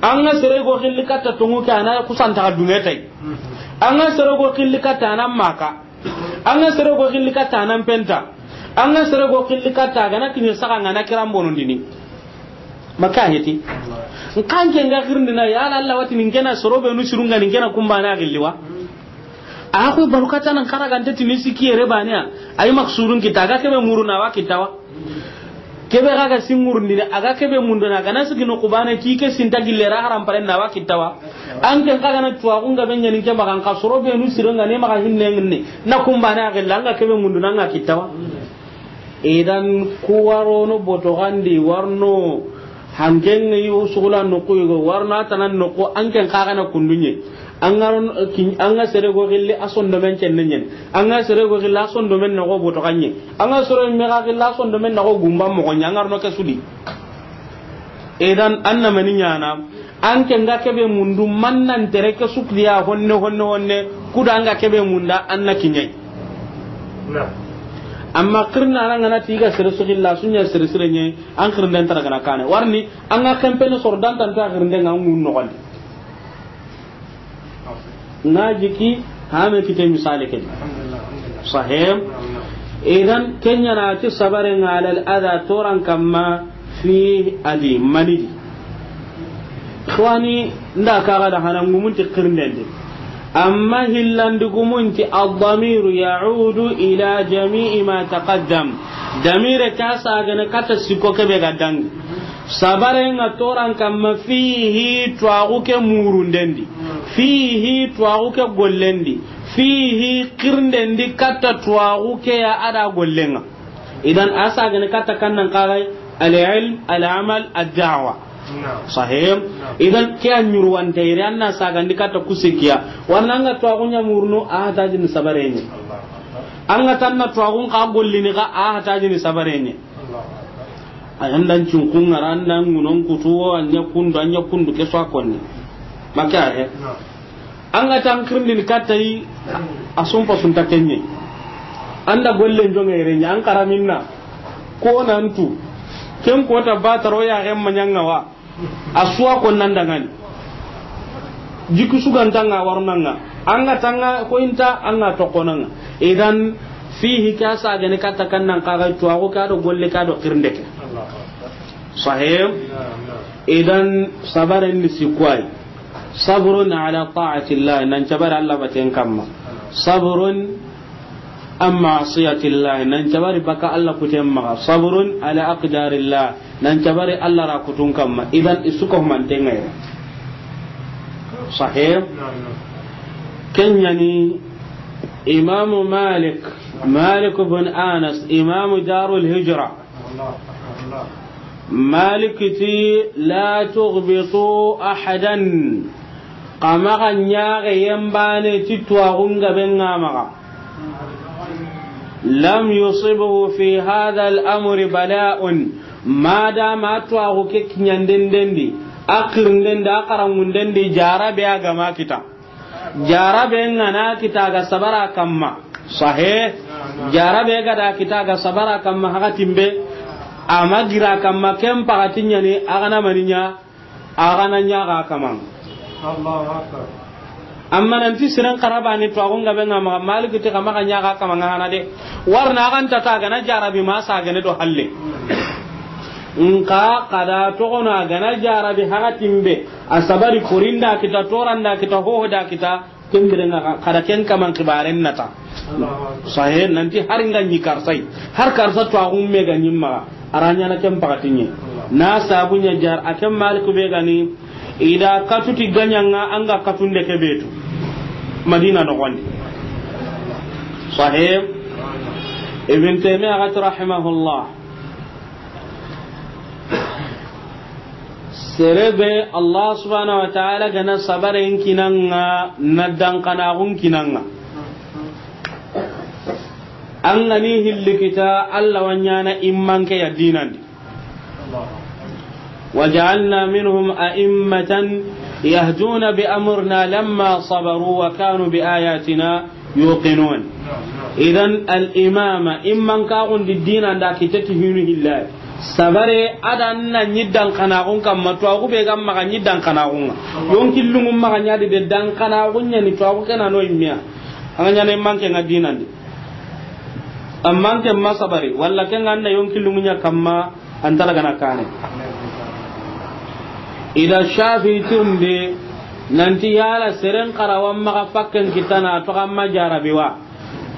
An ga sere go xilli katta tongu ke ana kusanta dunge tay. An ga sere go xilli katta ana maka. An ga sere go xilli katta nan penta. An ga sere go xilli katta gana kiɲe saka ngana kiran bonondini. Maka heti. Nkan ke nga xirindina ya la Allah wati nin kena soro be nu sirunga nin kena kumbana xilliwa. A ko balukata nan kara gante tini siki yere baniya. Ay maksudun kita ga kebe muruna wa kitawa. Kebe ga ga singurundini, a ga kebe munduna, a ga na sigi no kubane, ki ke sinta gille ra haram pare na wa kittawa. An ken ka ga na tuwa kun ga be ɲani ke magan ka soro be nu siro nga ne maga hinne nginne. Na kumbane a gilla nga kebe munduna nga kittawa. Idan kuwaro no boto gandi warno hanken ngi usugula no kuy go warno atanan no ko an ken ka ga na kundunye. An ga ron, kin, an ga sere go gilli a sondomen cenne ɲen. An ga sere go gilli a sondomen nogo boto kanye. An ga sere me ga gilli a sondomen nogo gumba mogo ɲa. An ga rono ke sudi. Idan an na mani ɲana. An ke nga kebe mundu mannan tere ke sukliya honne, honne, honne. Kuda an ga kebe munda an na kiɲai. Amma kirna an ga na tiga sere sugilla sunya sere sere ɲe. An kirnden tara gana kane. Warni an ga kempene sor dan tan ta kirnden an ŋun no gandi. Na jiki hame kite misali ke. Sahih. Idan, ken ɲa na ti sabaren ŋa alal adha, toran kamma, fi adi, mani di. Xwani, nda kaga da hana ngumun ti xirnden di. Amma hillandi gumun ti, ad-damiru ya'udu ila jami'i ma taqaddam. Damire ke a sagene katta sikko ke be ga dangi. Sabaren ŋa toran kamma fihi, tuwaxu ke murunden di. Fihi, tuwaxu ke gollen di. Fihi, xirnden di katta tuwaxu ke ya a da gollen ŋa. Idan, a sagene katta kannan kagai, al-ilm, al-amal, ad-da'wa. Naam. Sahih? Naam. Idan, ke a ɲuruwante yere, an na sagandi katta kusikiya. Warna an ga tuwaxu ɲa murunu, a hatajini sabaren ɲa. Allahu akbar. An ga tanna tuwaxun xa gollini xa, a hatajini sabaren ɲa. Allahu akbar. A yan dan cunkun ŋa ra, an dan ŋunon kutu, an ɲa kundu, an ɲa kundu, ke so a konni. Maka he. Naam. An ga tan xirindini katta yi, a sumpa sunta ken ɲa. An da gollen jonge yere ɲa, an xaraminna. Ko nan tu. Ken kota bataro ya gen maɲanga wa. A suwa ko nan dangani. Jiku suganta ŋa warnanga. An ga tanga ko inta, an ga tokonanga. Idan, fihi, ke a sagene katta kannan kagai, tuwaxu ke a do golle ke a do xirinde ke. Sahih? Idan, sabaren ni sikko ay. Sabrun ala ta'atillah, nan cabari Allah baten kamma. Sabrun an ma'siyatillah, nan cabari baka Allah kuten maxa. Sabrun ala aqdarillah, nan cabari Allah ra kutun kamma. Idan, i su ko humanten ŋa yere. Sahih? Ken ɲa ni Imamu Malik, Malik bin Anas, Imamu Darul Hijra. Malik ti, la tughbitu ahadan. Xa maxa ɲaxe yembane ti tuwaxun gaben ŋa maxa. Lam yusibhu fi hadha al-amri bala'un. Madama tuwaxu ke kiɲanden di, a xirinde di, a xaranŋunde di, jarabe a ga ma kita. Jarabe ŋa na kita ga sabara kamma. Sahih. Jarabe ga da kita ga sabara kamma hakatin be. A ma gira kamma, ken paxati ɲa ni, a ga na mani ɲa, a ga na ɲa ga kaman. Allahu akbar. Amma nan ti siren xarabani tuwaxun gaben ŋa maxa, Malik ti xa maxa ɲa ga kaman ŋa hana de. Warna a ga nta ta ga na jarabi ma sagene do halle. Nka xa da toxono a ga na jarabi hakatin be. A sabari korinda kita, toranda kita, hohoda kita, ken biren ŋa xa da ken kaman xibaren nata. Sahih, nan ti har nga ɲi karsai, har karsa tuwaxun me ga ɲi maxa, a ra ɲa na ken paxati ɲa. Na sabu ɲa jar, a ken Malik be ga ni, i da katu ti gaɲanga, an ga katunde ke be tu. Madina noxon di. Sahih. Ibn Taymiyyah ga ti rahimahullah. Sere be Allah subhanahu wa ta'ala ga na sabaren kinanga, na dankanaxun kinanga. An ga ni hilli kita, Allah wa ɲaana i manke ya diinan di. وجعلنا منهم أئمة يهدون بأمرنا لما صبروا وكانوا بآياتنا يوقنون. Idan, al imama, i mankaxun di diinan da kita ti hinu hilla. Sabare, a da na ɲi dankanaxun kamma, tuwaxu be ga maxa ɲi dankanaxun ŋa. Yonki lungun maxa ɲa di de, dankanaxun ɲa ni tuwaxu ke na no i me ya. An ga ɲaana i manke ŋa diinan di. A manke ma sabari, walla ken ga na yonki lungun ɲa kamma, an ta ra ga na kane. I da Shafi tirindi, nan ti yala seren xarawa maxa fakken kita na toxo a ma jarabi wa.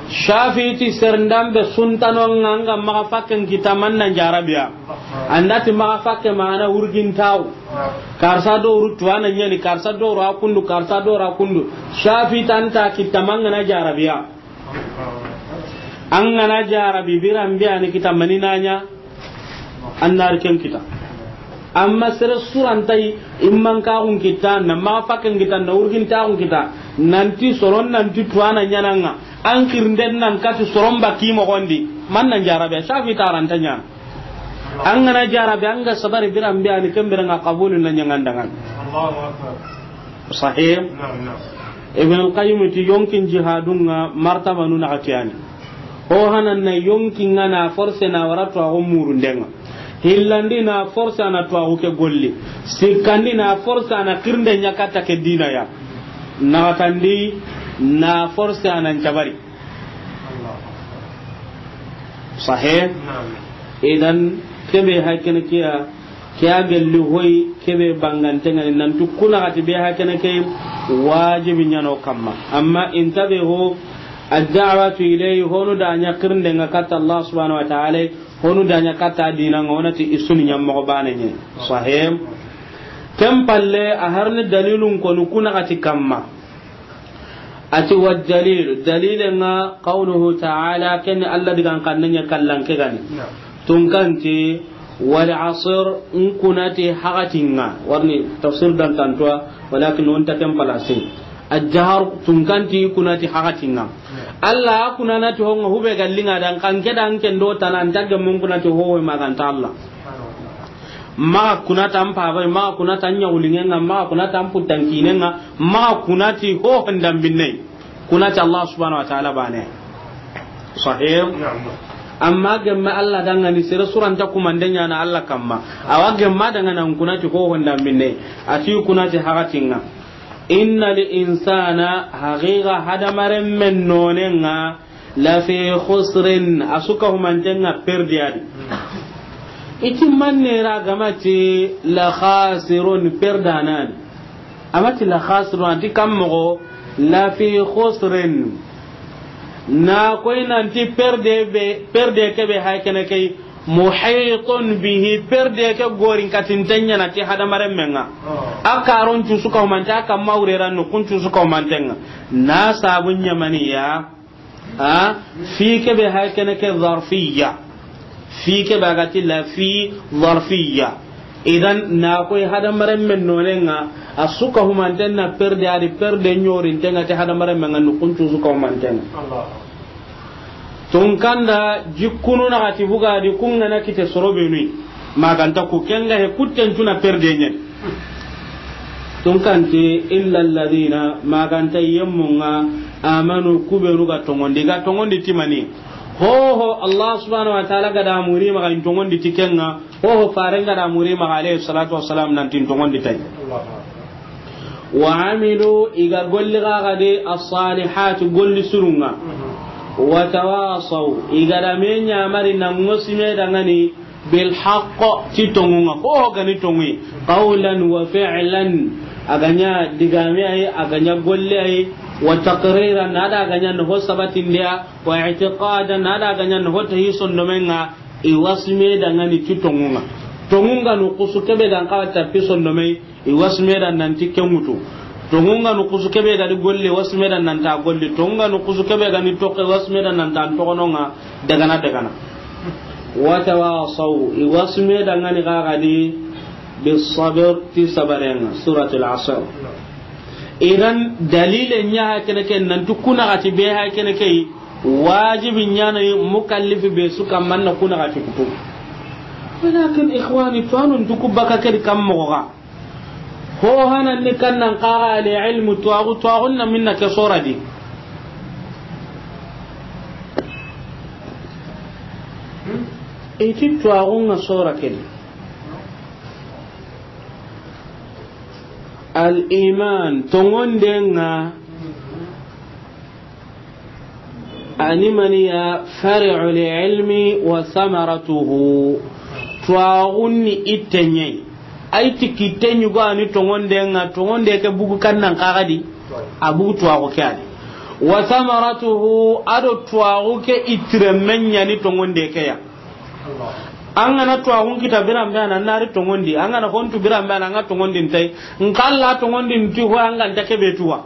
Shafi ti seren da be suntanon ŋa, an ga maxa fakken kita, man na jarabi ya. An da ti maxa fakke mana wurgintaxu. Karsa do wuru tuwana ɲa ni, karsa do wuru a kundu, karsa do wuru a kundu. Shafi ti an ta kita, man ga na jarabi ya. An ga na jarabi, biran be a ni kita, mani na ɲa, an na ri ken kita. Amma sere su ra nta i mankaxun kita, na maxa fakken kita, na wurgintaxun kita, nan ti soron, nan ti tuwana ɲaana ŋa, an xirinden nan kati soron ba ki moxon di, man na jarabi ya, Shafi ti a ra nta ɲaana. An ga na jarabi, an ga sabari, biran be a ni, ken biren ŋa qabulu na ɲa ŋa an da ŋa. Allahu akbar. Sahih. Naam, naam. Ibn al-Qayyim ti yonkin jihadun ŋa martabanu naxati ya ni. Ho hanan na yonkin ŋa na force na wara tuwaxu murunden ŋa. Hillandi na force a na tuwaxu ke golli. Sikkandi na force a na xirinde ɲa katta ke diina ya. Naxatandi na force a na ncabari. Sahih. Idan kebe hay kene kiya, kiya gelli hoy kebe bangante ngani nantu kuna gati be hay kene ke wajibi ñano kamma. Amma intabe ho, ad-da'watu ilayhi, honu da ña kirnde nga katta Allah subhanahu wa ta'ala, honu da ña katta dina nga, wonati isuni ñammo bane ñe. Sahih. Ken palle a harni dalilun konu kuna gati kamma. Ati wa dalil, dalile nga qawluhu ta'ala, ken Allah digan kanne ña kallan ke gani. Tunkanti, wal asr, nkunati hakatinga. Warni tafsir dan tantuwa, walakin on ta ken palasi. Ajahar, tunkanti kunati hakatinga. Allah kunanati honga hube gallinga dan kanke dan ken do tanan tagge mun kunati ho maganta Allah. Maxa kuna tan pabay, maxa kuna tan ñawulingenga, maxa kuna tan puttankinenga, maxa kuna ti ho handambinne. Kuna ti Allah subhanahu wa ta'ala bane. Sahih. Amma gemma Allah dangani sere suranta kumande ñana Allah kamma. Awa gemma dangana kuna ti ho handambinne. Ati kuna ti hakatinga. Innal insana, haqiqa hadamaren men nonenga, lafi khusrin, a suka humantenga perdiyadi. Iti mannera gamati la khasirun, perdanani. Amati la khasirun, anti kammogo, lafi khusrin. Na koy nanti perde be, perde kebe hay kene kay, muhitun bihi, perde ke gorin katintenña na ti hadamaren menga. A karon cusu kawmante, a kamma wureran no kun cusu kawmantenga. Na sabun ñamaniya, a, fi kebe hay kene ke zarfiya. Fi kebe agati lafi zarfiya. Idan na koy hadamaren men nonenga, a suka humanten na perde adi perde ñorintenga ti hadamaren menga no kun cusu kawmantenga. Tunkanda jikkunu na gati bugadi kungana kite sorobenui. Maganta ku kenga he kutten tuna perde ñen. Tunkanti illa alladhina, maganta yemmunga, amanu, kubenu ga tongondi, ga tongondi timani. Hoho Allah subhanahu wa ta'ala ga da muri maga in tongondi tikenga. Hoho farenga da muri maga alayhi salatu wassalam nanti in tongondi tay. Wa amilu, iga golli gagade, as-salihat, golli surunga. Wa tawasaw, iga da me ñamari na ngosime dangani, bil haqq, ti tongunga. Hoho gani tongui, qawlan wa fi'lan, aganya digame ay, aganya golle ay, wa taqriran, ada aganya no sabatindia, wa i'tiqadan, ada aganya no tahi sondomenga, iwasime dangani ti tongunga. Tongunga no kusu kebe gan kawa tapi sondomei, iwasime dan nanti kemutu. Tongunga no kusu kebe gadi golle, wasime dan nanta golle. Tongunga no kusu kebe gani toke, wasime dan nanta tokononga, dagana dagana. Wa tawasaw, iwasime dangani gagadi, bis sabr, ti sabarenga. Suratul Asr. Idan dalile ña ha kene ke nantu kuna gati be ha kene ke wajibi ñana mukallifi be su kammanna kuna gati kutu. Walakin ikhwani, tuwanu ntuku baka kedi kammoga. Ho hanan ni kannan kaga ali ilmu tuwagu, tuwagun na minna ke sora di. Iti tuwagun nga sora kedi. Al iman, tongondenga, ani maniya fari'u li ilmi wa samaratuhu. Tuwagun ni itteñe. Ay ti kitte ñugo ani tongondenga, tongonde ke bugu kannan kagadi, a bugu tuwagu ke adi. Wa samaratuhu, ado tuwagu ke itire meñani tongonde ke ya. An gana tuwagun kita biranbe ana nari tongondi, an gana hontu biranbe ana nga tongondin tay. Nkalla tongondin ti ho an ganta kebe tuwa.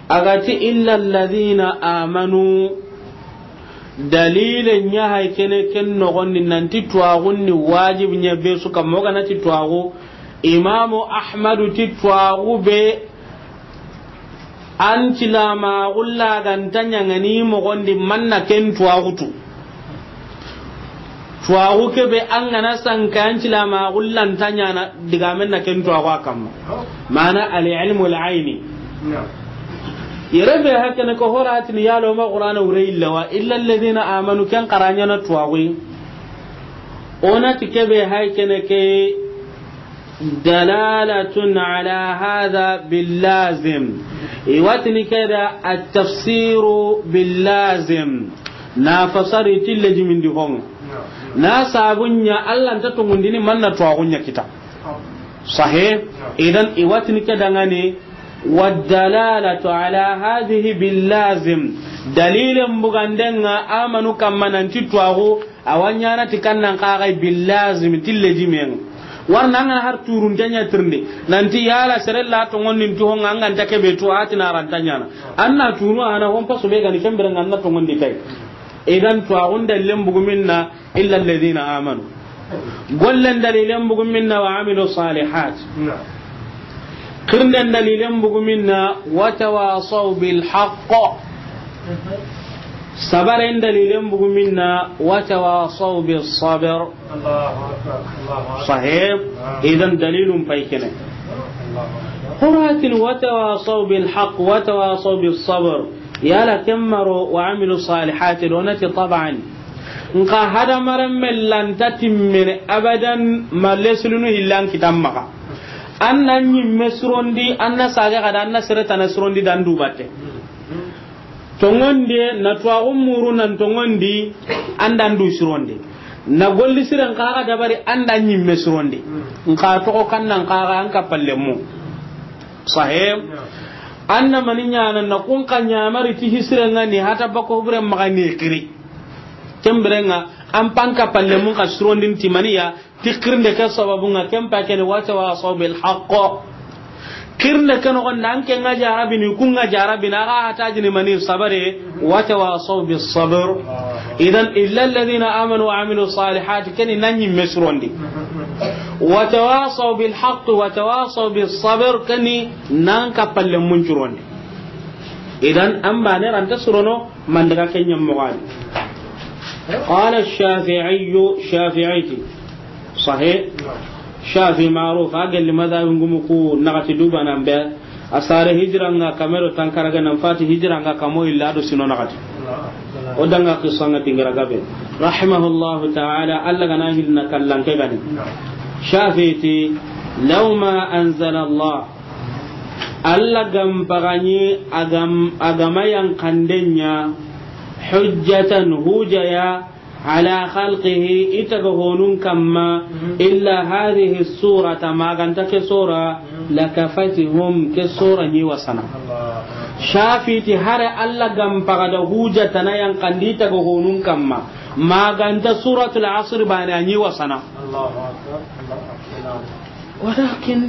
Agati illa alladhina amanu. Dalile ña hay kene ken nogondi nanti tuwagun ni wajibi ña be su kamma, o ganati tuwagu. Imamu Ahmadu ti tuwagu be an cilama gulla ganta ñangani mogondi manna ken tuwagutu. Tuwaxu ke be an ga na sanka an cilama xullanta ñana digamen na ken tuwaxu a kamma. Mana al ilmu al aini. Yere be hakene ko horatini yalo ma qur'ana wure illa wa illa alladhina amanu ken qaranya na tuwaxu. Onati ke be hay kene ke دلالة على هذا باللازم. Iwatini keda التفسير باللازم. Na fasari ti lejimindi hoŋa. Na sabu ɲa Alla nta toŋundini manna tuwaxu ɲa kita. Sahe. Idan i wa tini ke daŋani. والدلالة على هذه باللازم. Dalilen buganden ŋa amanu kamma nanti tuwaxu, a wa ɲaana ti kannan kaxay billazim ti lejimen ŋa. Warna an ga na har turunte ɲa tirindi nanti yala sere la toŋondin ti hoŋa an ga nta kebe tu a ti na ranta ɲaana. An na tunu a na hon pasu be gani kembere ŋa an na toŋondi tay. Idan tuwaxun dalilen bugu minna إلا الذين آمنوا. Gollen dalilen bugu minna وعملوا الصالحات. Xirnden dalilen bugu minna وتواصوا بالحق. Sabaren dalilen bugu minna وتواصوا بالصبر. Sahe. Idan dalilun pay kene. Qur'atin وتواصوا بالحق وتواصوا بالصبر. Yala kemmaro وعملوا الصالحات do nati طبعا. Nka hadamaren me lanta timmene abadan ma lesulunu hillan kitan maxa. An na ɲimme surondi, an na sage xada, an na sere tana surondi dan du batte. Toŋonde na tuwaxu muru nan toŋondi, an dan du surondi. Na golli siren xa ga dabari an da ɲimme surondi. Nka toxo kannan xa ga an ka palle mu. Sahe. An na mani ɲaana na kun xa ɲamari ti hisiren ŋa ni hata bako bure maxa ni kiri. Kembere ŋa an panka palle mun ka surondin ti maniya ti kirinde ke sababu ŋa ken pa kene وتواصوا بالحق. Kirinde ke noxon da an ke ŋa jarabini kun ŋa jarabini a ga hatajini mani sabare. وتواصوا بالصبر. Idan إلا الذين آمنوا وعملوا الصالحات keni na ɲimme surondi. وتواصوا بالحق وتواصوا بالصبر keni nan ka palle mun curondi. Idan an bane ranta surono mandaga kenya mogani. قال الشافعي. Shafi'i ti. Sahe. Shafi maruf a gelli madhabi ngumu ku naxati dubanan be. A sare hijira ŋa kame do tankaraga nan fati hijira ŋa kamo illa do sino naxati. O da ŋa qissa ŋa dingira gabe. Rahimahullahu ta'ala, Alla ga na hilna kallan ke gani. Shafi ti, لو ما أنزل الله. Alla ga n paga ɲi a ga ma yanqanden ɲa حجة hujaya على خلقه i taga honun kamma إلا هذه السورة ma ga nta ke sura لكفتهم ke sura ɲi wasana. Shafi ti hare Alla ga n paga da huja tana yanqandi i taga honun kamma ma ga nta suratul asr bane a ɲi wasana. Walakin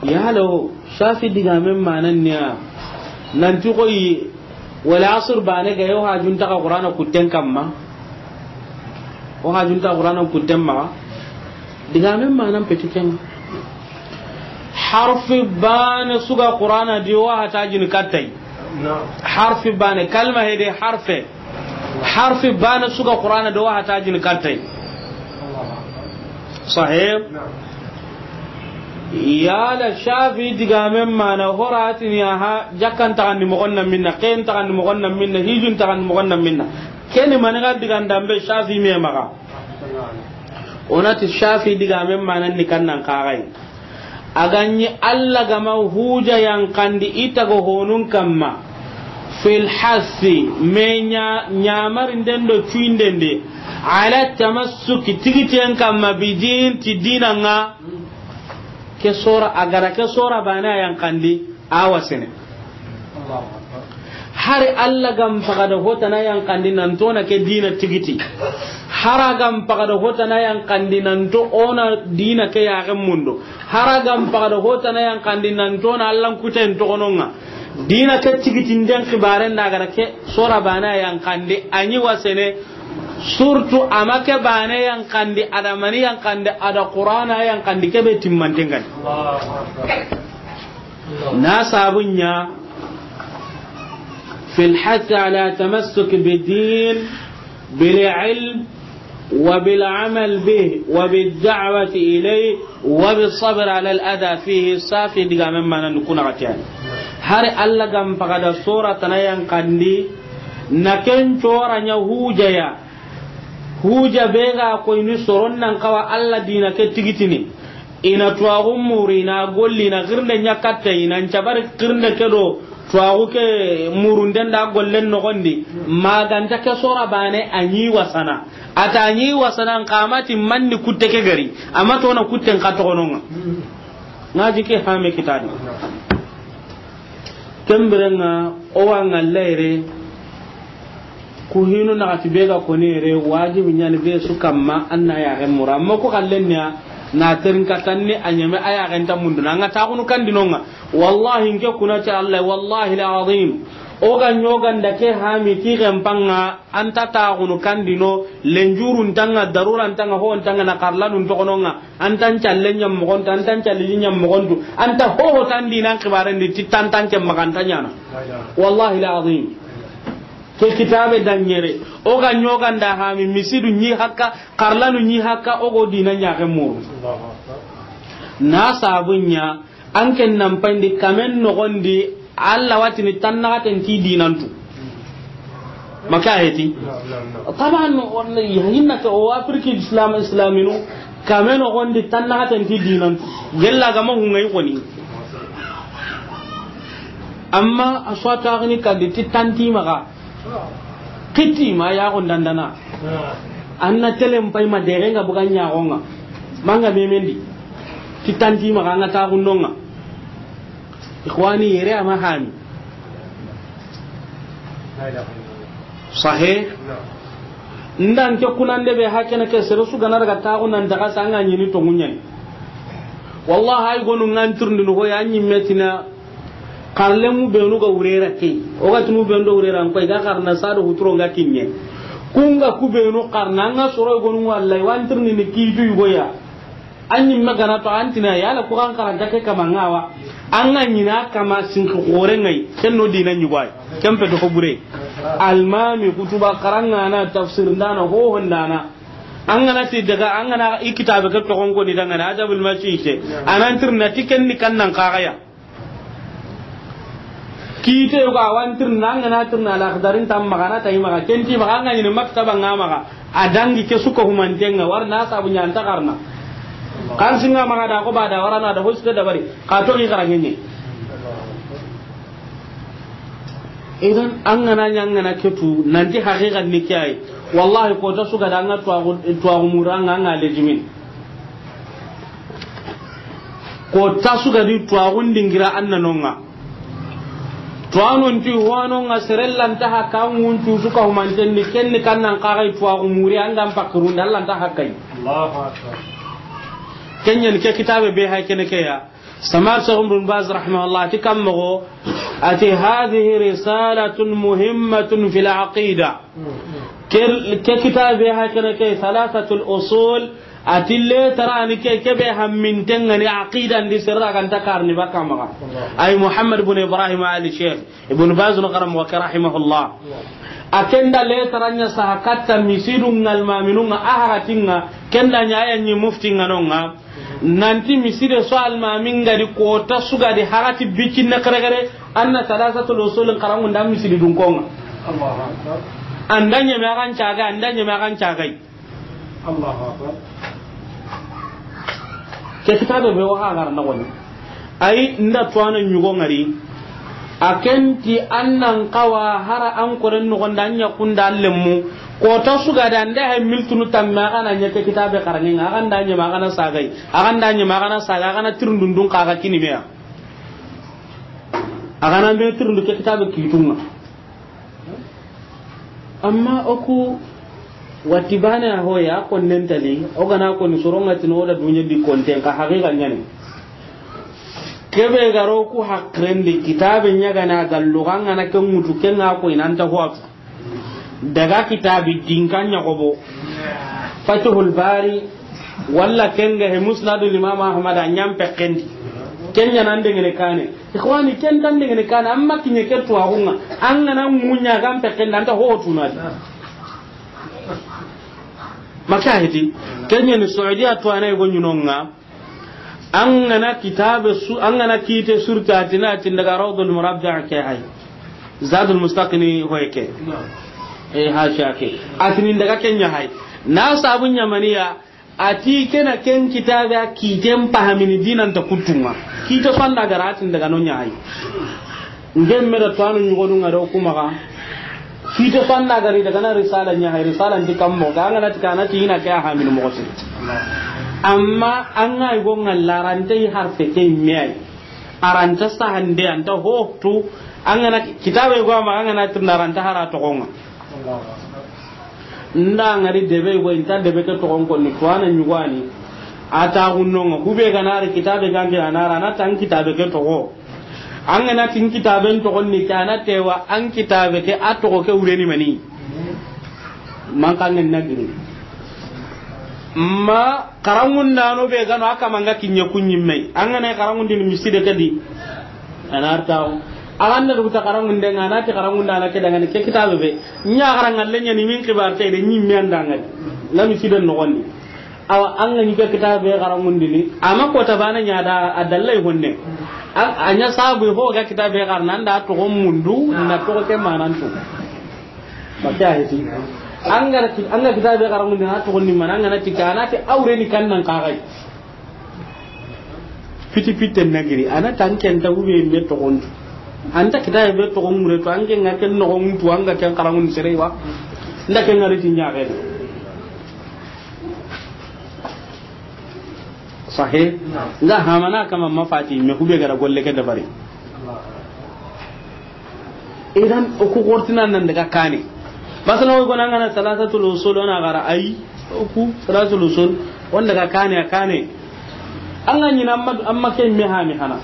Yalo, Shafi digamen manan niya. Nanti koyi, wala asr bane ga yo hajun taga Qur'ana kutten kamma. O hajun taga Qur'ana kutten ma. Digamen manan peti ken. Harfi bane suga Qur'ana di o hatajin kattai. Harfi bane, kalma hede harfe. Harfi bane suga Qur'ana do wa hatajin kattay. Sahib. Yala Shafi digamen mana horatini aha jakkan tagandi mogon na minna, ken tagandi mogon na minna, hijun tagandi mogon na minna. Keni maniga digandambe Shafi me maga. Onati Shafi digamen mana ni kannan kagai. A ga ɲi Alla ga ma huja yanqandi i taga honun kamma. Fil hassi me ɲa ɲamarinden do cuyinden de. Ala tamassuki tigitiyen kamma bidin ti dina ŋa. Ke sora a gara ke sora bane a yanqandi a wasene. Hari Alla ga n paga da hotana yanqandi nanto na ke dina tigiti. Hara ga n paga da hotana yanqandi nanto ona dina ke yaxe mundo. Hara ga n paga da hotana yanqandi nanto na Alla n kuten toxononŋa. Dina ke tigiti nden xibaren da gara ke sora bane yanqandi a ɲi wasene. Surtout a ma ke bane yanqandi a da mani yanqandi a da Qur'ana yanqandi kebe timmanten gani. Na sabun ɲa في الحث على تمسك بالدين بالعلم وبالعمل به وبالدعوة إليه وبالصبر على الأذى فيه. Shafi digamen mana ni kuna gatiyani. Hari Alla ga n paga da sora tana yanqandi na ken cora ɲa hujaya. Huja be ga koyni soron nan kawa Alla dina ke tigitini. I na tuwaxu muri, i na golli, i na xirinde ɲa katta, i na n cabari xirinde ke do Tuwaxu ke murunden da gollen noxondi, maganta ke sora bane a ɲi wasana. A ta ɲi wasana n xa ma ti manni kutte ke gari, a ma tona kutten xa toxononga. Ŋa ji ke hame kitadi. Kembirenga o wa ŋalla yere. Ku hinu naxati be ga koni yere, wajibi ɲani be su kamma an na yaxen mura. Amma ku xallen niya na terin katanni a ɲeme a yaxen ta munduna. An ga taxunu kandinonga. Wallahi nke kuna ti Allah, wallahi alazim. O ga ɲoganda ke hami ti xenpanga, an ta taxunu kandino, lenjurun tanga, daruran tanga, hon tanga, na xarlanun toxononga, an tan calle ɲammoxontu, an tan calle ɲammoxontu, an ta hoho tan dinan xibarendi, ti tan tan ke maxanta ɲana. Wallahi alazim. Ke kitabe daɲere, o ga ɲoganda hami, misidu ɲi hakka, xarlanu ɲi hakka, o go dina ɲaxe muru. Na sabunya, an ken nan payndi kamen noxondi, Allah watini tan naxaten ti dinantu. Maka heti. Taban, hinna ke o Afrique Islam, Islaminu, kamen noxondi tan naxaten ti dinantu. Gella gama hungayi xoni. Amma a swata gani kadi ti tanti maxa. Kiti ma ya gondandana. Anna telen pay ma dere nga buga ɲaxonga. Manga memendi. Ti tanti maxa nga taxundonga. Ikhwani, yere ama hami. Sahe. Ndan ke kunande be hakene ke sere su gana daga taxu nan daga sanga ɲini to ŋuɲani. Wallahi ay gonu nganturndi no ya ɲi metina. Xarlemu benu ga wurera ke, o ga tunu benu do wurera n koy ga xarna sado huturo nga kinye. Kunga ku benu xarna nga soro gonu wallahi wantirni ni kitu yugoya. Anyi magana to antina yala ku kan karanta ke kama ngawa. Anga nyina kama sinki gore ngai, ken no dina nyugwai. Kempe to ko bure. Almami kutuba karanga na tafsir ndana ho hondana. Angana ti daga angana i kitabe ke to gongo ni dangana adabul masike. Anantirna tiken ni kannan kagaya. Kite yogo a wa n tirna, an ga na tirna Al-Axdari n ta maxa na tayi maxa, ken ti maxa an ga ɲini maktaba nga maxa, a dangi ke su ko humanten ŋa, wari na sabu ɲa an ta xarana. Kan singa maxa da ko ba da wara na da hoste dabari, ka to i xaraŋe ɲi. Idan an ga na ɲa an ga na ke tu, nanti haqiqa ni ke yi. Wallahi ko ta su ga da an ga tuwaxu, tuwaxu mura nga an ga lejimin. Ko ta su ga di tuwaxun dingira an na nonga. Tuwanon ti wanonga serellanta ha kan ŋuncu su ka humanten ni ken ni kan nan kaxay tuwaxu muri an ga n pakirun da Alla nta hakkay. Allahu Akbar. Ken ɲa ni ke kitabe be hay kene ke ya. Samar Sheikh Ibn Baz rahimahullah ti kam moxo ati hadhihi risalatun muhimmatun fil aqida. Ke, ke kitabe hakene ke Thalathatul Usul, ati le tarani ke, ke be hamminten ŋa ni aqida ndi sirra ganta karni baka maxa. Ay Muhammad ibn Ibrahim Ali Sheikh Ibn Baz no karam wa rahimahullah. A ken da le taranya saha katta misidu ngal maminun ŋa a haratin ŋa, ken da ɲa ya ɲi mufti ŋa no ŋa. Nanti miside so almamin ga di ko ta su ga di harati bikin na kare kare, an na Thalathatul Usul n karangu nda misidi dun konga. Allahu Akbar. An da ɲeme a kan caga, an da ɲeme a kan caga. Allahu Akbar. Ke kitabe be wa ha gar na woni. Ay nda tuwana ɲugo ŋari. A ken ti an nan kawa hara an koren noxon da ɲa kunda lemmu. Ko ta su ga da nda hay miltunu tamme a ga na ɲa ke kitabe xaraŋe ŋa, a ga nda ɲeme a ga na sagay. A ga nda ɲeme a ga na saga, a ga na tirindundun xa ga kini meya. A ga na me tirindu ke kitabe kitun ŋa. Amma o ku wati bane a hoya konnen tali, o ga na ko ni soronga tino o da dunya di konten ka haqiqa ɲa ni. Kebe garo ku hakrendi kitabe ɲa ga na gallu ga ŋa na ken ŋutu ken ŋa ko inanta huwa. Daga kitabi dinka ɲa gobo. Fathul Bari, walla ken ga he Musnadul Imam Ahmad a ɲa n pekkendi. Ken ɲa nan dengene kane. Ikhwani, ken tan dengene kane, amma kiɲe ke tuwaxu ŋa. An ga na ŋuɲa ga n pekkendi, an ta ho tunadi. Maka hiti. Ken ɲa ni Saudiya tuwana go ɲunonga. An ga na kitabe su, an ga na kite surta a ti na ti daga Rawdul Murabba ke hay. Zadul Mustaqni hoy ke. E hasha ke. A ti ni daga ken ɲa hay. Na sabu ɲa maniya, a ti ke na ken kitabe a kiten pahamini dinan ta kutunga. Kite fanda ga ra ti daga no ɲa hay. Ngemme da tuwaanu ɲugodu ŋa do ku maxa. Fite fanna gari daga na risala ɲa hay, risala ndi kammo ga ŋa na ti kana ti ina ke a hamini moxo siri. Amma an ŋa yi go ŋa larante yi harfe ke me ay. Aranta sahande anta hotu. An ŋa na kitabe go ma an ŋa na tirna aranta hara toxo ŋa. Nda ngari debe go inta debe ke toxon konni tuwaana ɲugani. A ta gunno ŋa hube ga na ri kitabe gange a na ra na tan kitabe ke toxo. An ga na tin kitaben toxon ni ke a na tewa an kitabe ke a toxo ke wureni mani. Man kan na giri. Ma karangundano be gano aka manga kinye kunyi mai. An ga na karangundini miside ke di. A na artawo. A ga na rubuta karangunde ŋa na ti karangundana ke dangane ke kitabe be. Ɲa karangalle ɲa ni min kibar te de ɲi mi andanga. Na miside no gonni. Awa an ga ɲi ga kitabe karangundini. Ama ko tabana ɲa da a dallai honne. A ɲa sabu ho ga kitabe karna nda toxo mundu na toxo ke manantu. Maka heti. An ga kitabe karangundini a toxo ni mana an ga na ti kana ti awre ni kannan kagai. Fiti fitte na giri a na tan ken ta hube me toxontu. Anta kitabe be toxon mure to an ke ŋa ken noxon tu an ga ken karangun sere wa. Nda ken ŋa ri ti ɲa ke. Sahe. Nga hamana kama mafati me hube gara golle ke dabari. Idan o ku xortina nan daga kane. Masala wo gona ngana salasatul usul ona gara ay o ku salasatul usul on daga kane a kane. An ga ɲina amma amma ke me hami hana.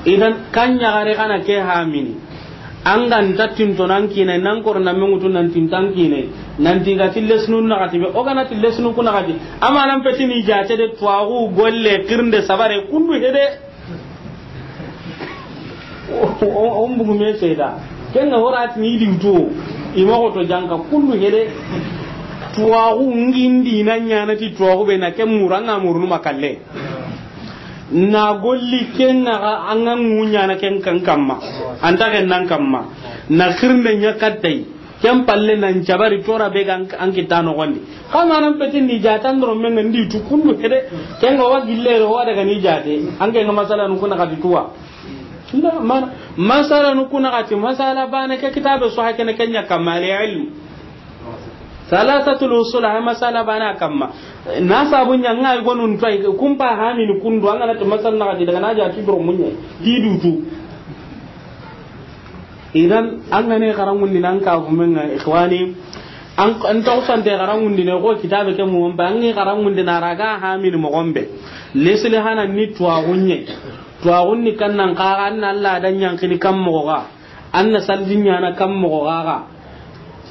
Idan kan ɲa gare kana ke hamini. An ga nta tinto nan kine nan kor na mengutu nan tintan kine. Nan tiga tillesnu na gati be o gana tillesnu kuna gati. Amma nan petini jate de tuwaxu golle kirnde sabare kundu hede. O mbugu me seda. Ken ga hora ti ni di to. I ma ko to janka kundu hede. Tuwaxu ngindi na ɲana ti tuwaxu be na ken mura nga murunu makalle. Na golli ken ga an ga ŋu ɲana ken kan kamma. Anta ken nan kamma. Na kirnde ɲa kattay. Ken palle nan cabari tora be ga an kitta noxondi. Xa manan petindi jatan doro men ndi tu kundu hede. Ken ga wa gillero wa daga ni jate. An ke nga masala nu kuna kati tuwa. Nda man masala nu kuna kati masala bane ke kitabe so hakene kenya kamale ilm. Salasatul usul ha masala bana kamma. Na sabu ɲa nga gonun tay kumpa hamini kundu an ga na to masala na kati daga na jati doro munya. Di dutu. Idan an ga ne karangundi nan ka gumen ŋa ikhwani. An an tawsante karangundi ne ko kitabe ke mu ba an ga karangundi na raga hamini mo gombe. Lesli hana ni tuwaxu ɲe. Tuwaxun ni kannan kaga an na Allah dan ɲankini kan moxo ga. An na saldi ɲana kan moxo ga ga.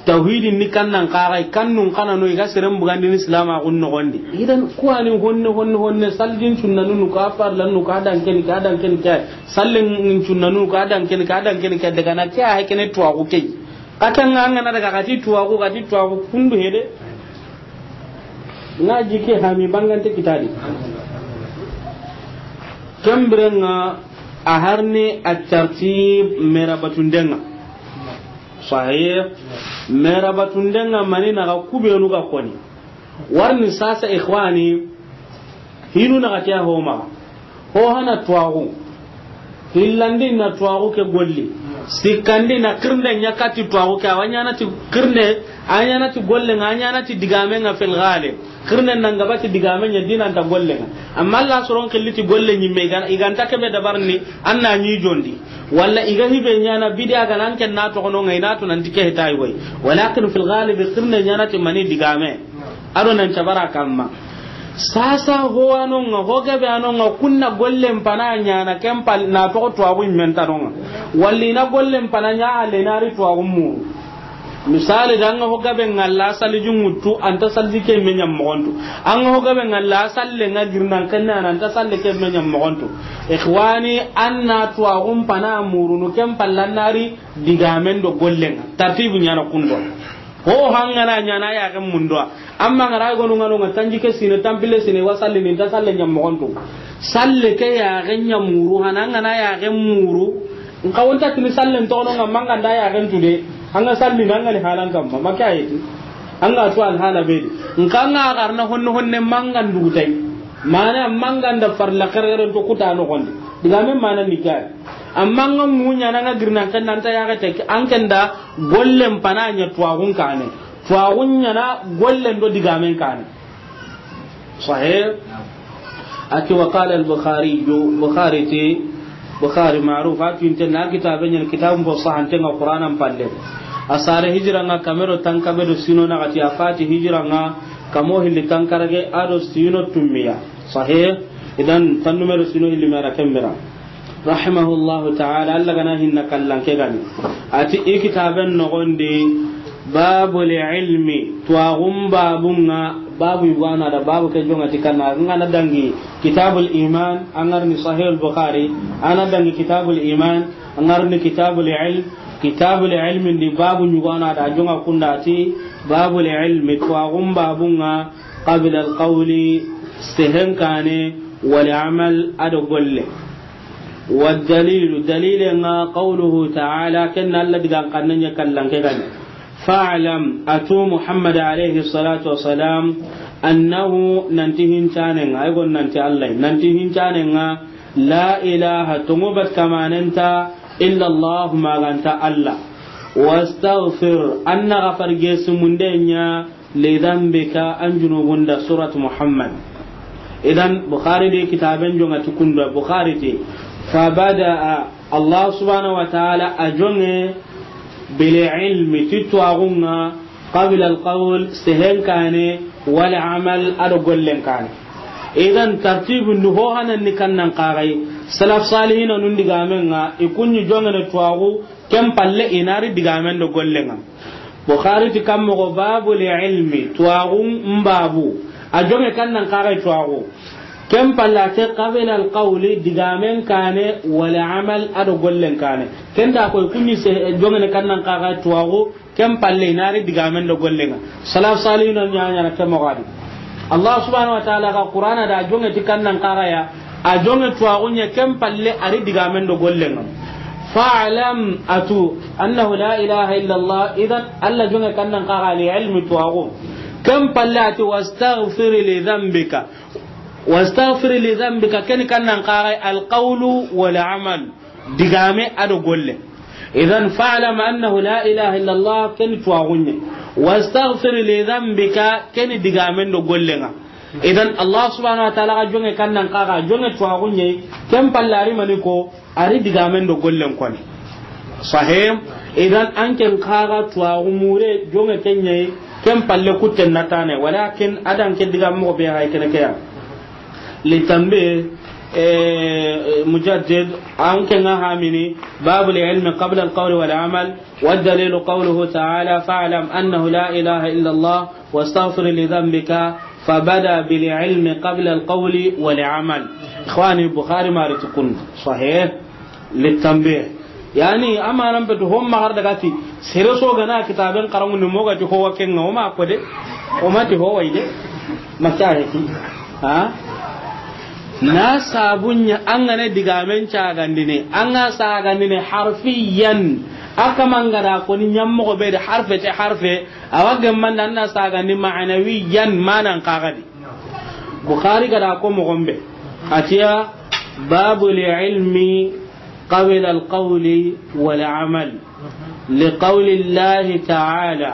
Tawhidin ni kannan kaga kannun kana no i ga seren bugandini silama gun noxondi. Idan kuwani honne honne honne saldin sunnanunu ka farlanu ka dankeni ka dankeni ka. Sallen cunnanu ka dankeni ka dankeni ka daga na ke a hakene tuwaxu ke. Katanga an ga na daga kati tuwaxu kati tuwaxu kundu hede. Nga jike hami bangante kitadi. Kembirenga a harni at-tartib merabatundenga. Sahih. Merabatundenga mani na ga kubenu ga koni. Warni sasa ikhwani. Hinu na gatiya homa. Ho hana tuwaxu. Hillandi na tuwaxu ke golli. Sikkandi na kirnde ɲa kati tuwaxu ke. Awa ɲana ti kirnde. A ɲana ti golle nga a ɲana ti digame nga fil ghalib. Kirnde nan gabati digame ɲa dinanta golle nga. Amma Allah soron killiti golle ɲimme iganta kebe dabarni. An na ɲi jondi. Walla iga hibe ɲana bidiya ga nan ken na toxono nga ina to nanti ke hitayi woy. Walakin fil ghalib kirnde ɲana ti mani digame. Ado nan cabara kamma. Sasa ho anonga ho gabe anonga kunna gollen pana ɲana kempal na to tuwaxu mentanonga. Walli na gollen pana ɲa halle na ri tuwaxu mu. Misali da nga ho gabe ngalla sali junguttu anta sali ke me ɲam moxontu. An ga ho gabe ngalla salle nga girnan kenna anta salle ke me ɲam moxontu. Ikhwani anna tuwaxu pana murunu kempal lanari digamen do gollen tartibu ɲana kundo. Ho hangana ɲana ya ga mundo. Amma ngara gonu ngano nga tanji ke sine tampile sine wa salle ni ta salle ɲam moxontu. Salle ke ya ga ɲa muru hana ngana ya ga muru. Nka wonta tini salle ntono nga manga nda ya ga ntude. Anga salle nanga ni halan kam ma maka yiti. Anga to al hala be. Nka nga garna honno honne manga ndugutai. Mana manga nda farla karere to kuta no gonde. Diga men mana ni kay. Amma an ga muɲa na, an ga girna, an ken da, an ta yaxe te, an ken da gollen pana ɲa tuwaxun kaane. Tuwaxun ɲa na gollen do digamen kaane. Sahih. A ti, wa qala al-Bukhari, Bukhari ti, Bukhari maruf, a ti inte na kitabe ɲa, kitabun fo sahanten ŋa Qur'anan palle. A sare hijira ŋa kame do tankabe do sino naxati, a fati hijira ŋa kamo hilli tankarage a do sino tummiya. Sahih. Idan tan numero sino hilli mera kembera. Rahimahullahu ta'ala, Allah ga na hinna kallan ke gani. A ti i kitaben noxon di, babul ilmi, tuwaxun babun ŋa, babu yugo a na da, babu ke jonŋa ti kanna, an ga na dangi kitabul iman, an ga ri ni Sahih al-Bukhari, an ga na dangi kitabul iman, an ga ri ni kitabul ilm, kitabul ilmi ndi babu yugo a na da, a jonŋa kunda ti, babul ilmi, tuwaxun babun ŋa, qabla al-qawli, sehen kaane, wal amal, a do golle. Wa dalilu, dalile ŋa, qawluhu ta'ala, ken na Allah digan xannen ɲa kallan ke gani. Fa'lam, a tu Muhammad alayhi salatu wa salam, annahu, nanti hincanen ŋa, ay gon nanti Allah, nanti hincanen ŋa, la ilaha, tonŋu bat kamanen nta, illa Allah, ma ga nta Allah. Wastaghfir, an na gafar gesu munde ɲa, li dhanbika, an junubun da, Surat Muhammad. Idan, Bukhari di kitaben jonŋa ti kunda, Bukhari ti, fabada'a, Allah subhanahu wa ta'ala a jonŋe, bil ilmi, ti tuwaxun ŋa, qabla al qawl, sehen kaane, wal amal, a do gollen kaane. Idan, tartibun du ho hanan ni kannan kaxay, salaf salihina nun digamen ŋa, i kun ɲi jonŋene tuwaxu, ken palle i na ri digamen do gollen ŋa. Bukhari ti kan moxo, babul ilmi, tuwaxun babu. A jonŋe kannan kaxay tuwaxu. Ken palle a ti qabla al qawli, digamen kaane, wal amal, a do gollen kaane. Ken da koy kun ɲi se jonŋene kannan kaxay tuwaxu, ken palle i na ri digamen do gollen ŋa. Salaf salihina ɲa ɲaana ke moxo di. Allah subhanahu wa ta'ala ga Qur'ana da jonŋe ti kannan kaxaya, a jonŋe tuwaxun ɲa, ken palle a ri digamen do gollen ŋa. Fa'lam, a tu, annahu la ilaha illa Allah, idan Allah jonŋe kannan kaxa li ilmi tuwaxu. Ken palle a ti wastaghfir li dhanbika. Wastaghfir li dhanbika, ken kannan kaxa al qawlu wal amal. Digame a do golle. Idan fa'lam annahu la ilaha illa Allah, ken tuwaxun ɲa. Wastaghfir li dhanbika, ken digamen do gollen ŋa. Idan Allah subhanahu wa ta'ala ga jonŋe kannan kaxa, jonŋe tuwaxun ɲa, ken palle a ri mani ko, a ri digamen do gollen koni. Sahih. Idan an ken kaxa tuwaxu mure, jonŋe ken ɲa, ken palle kutten na tane, walakin a dan ke diga moxo be hay kene ke ya. Litanbih, eh, mujaddid, an ke ŋa hamini, babul ilmi qabla al qawli wal amal, wa dalilu qawluhu ta'ala, fa'lam annahu la ilaha illa Allah, wastaghfir li dhanbika, fabada bil ilmi qabla al qawli wal amal. Ikhwani, Bukhari mari tukun. Sahih. Litanbih. Yani, amanan betu hon magar daga ti, sere so gana kitaben karamu ni moga ti howa kenga, o ma ko de, o ma ti howa ide, ma ta he ti. Ha? Na sabun ɲa an ga na digamen cagandini, an ga sagandini harfiyan, a kaman ga da ko ni ɲammogo be de harfe te harfe, a wa gemman da an na sagandi ma'anawiyan, manan kaga di. Bukhari ga da ko moxo be. A ti ya, babul ilmi qabla al qawli wal amal. Li qawli Allahi ta'ala,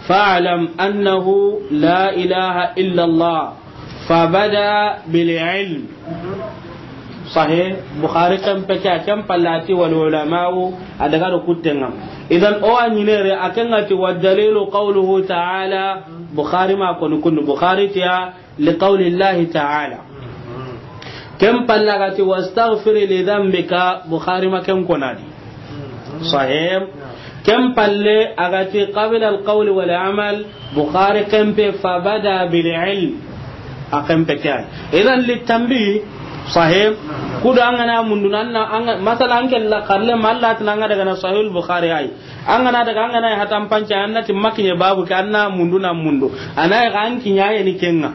fa'lam annahu la ilaha illa Allah, fabada bil ilm. Sahih. Bukhari ken peke a ken palle a ti wal ulama'u, a daga do kutten ŋa. Idan o wa ɲinere a ken ŋa ti wa dalilu qawluhu ta'ala, Bukhari ma koni kundu, Bukhari ti ya li qawli Allahi ta'ala. Ken palle a ga ti wastaghfir li dhanbika, Bukhari ma ken kona di. Sahih. Ken palle a ga ti qabla al qawli wal amal, Bukhari ken pe fabada bil ilm. A ken pe kay. Idan litanbih, sahih. Kudo an ga na mundu nan na, an ga, masala an ke la karle mallat nan ga daga na Sahih al Bukhari ay. An ga na daga, an ga na hatan panca, an na ti makiɲe babu ke, an na mundu na mundu. A na ga an kiɲa ye ni kenga.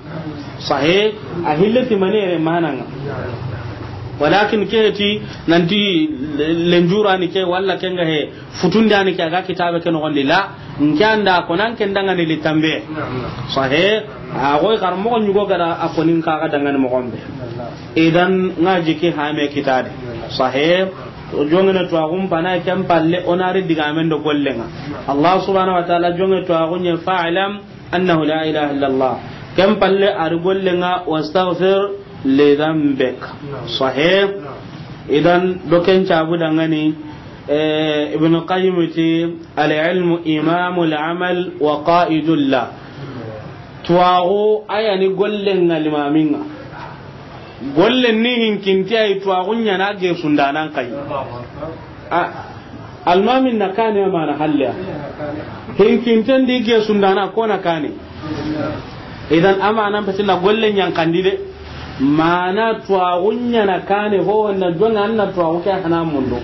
Sahih, a hille ti manere mananga. Walakin ke ti nanti lenjura ni ke wala kenga he, futunda ni ke a ga kitabe ke no gondi la. Nke anda ko nan ken dangani litanbih. Sahih, a goy kar mo nyugo gara a ko nin ka ga dangani mo gombe. Idan ngaji ke hame kitade. Sahih. O jongene tuwaaxun pana, ken palle o na ri digaamen do gollen ŋa. Allah subhanahu wa ta'ala jonge tuwaaxun ɲa, fa'lam annahu la ilaha illa Allah. Ken palle a ri gollen ŋa, wastaghfir li dhanbik. Sahih. Idan, do ken cabu dangani, eh, Ibn Qayyim ti, al-ilmu imamul amal wa qa'idul la. Tuwaaxu a ya ni gollen ŋa, limamin ŋa. Gollen ni hinkinte, a yi tuwaaxun ɲaana, gesundanan xa yi. A, almamin na kaane, a maana halle ya. Hinkinten di gesundana ko na kaane. Idan, a maana peti na gollen ɲankandi de. Maana tuwaaxun ɲaana kaane, ho na jonge an na tuwaaxu ke hana mundu.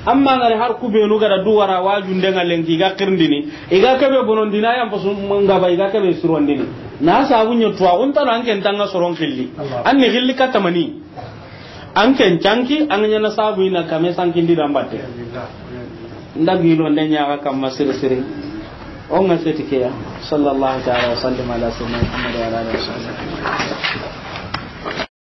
Amma ngari har ku beenu ga da du wara wajunden ŋa lenki, i ga xirindini, i ga kebe bonondini, a yan pasu ngaba, i ga kebe sirondini. Na sabu ɲa tuwaaxun tano, an ken tanga soron xilli. An ni xilli katta mani. An ken canki, an ga ɲaana sabu i na kame sankindi da n batte. N da gilo nde ɲa ga kamma siri siri. O ŋa seti ke ya. Sallallahu ta'ala wa sallim ala sayyidina Muhammad wa ala alihi wa sahbihi.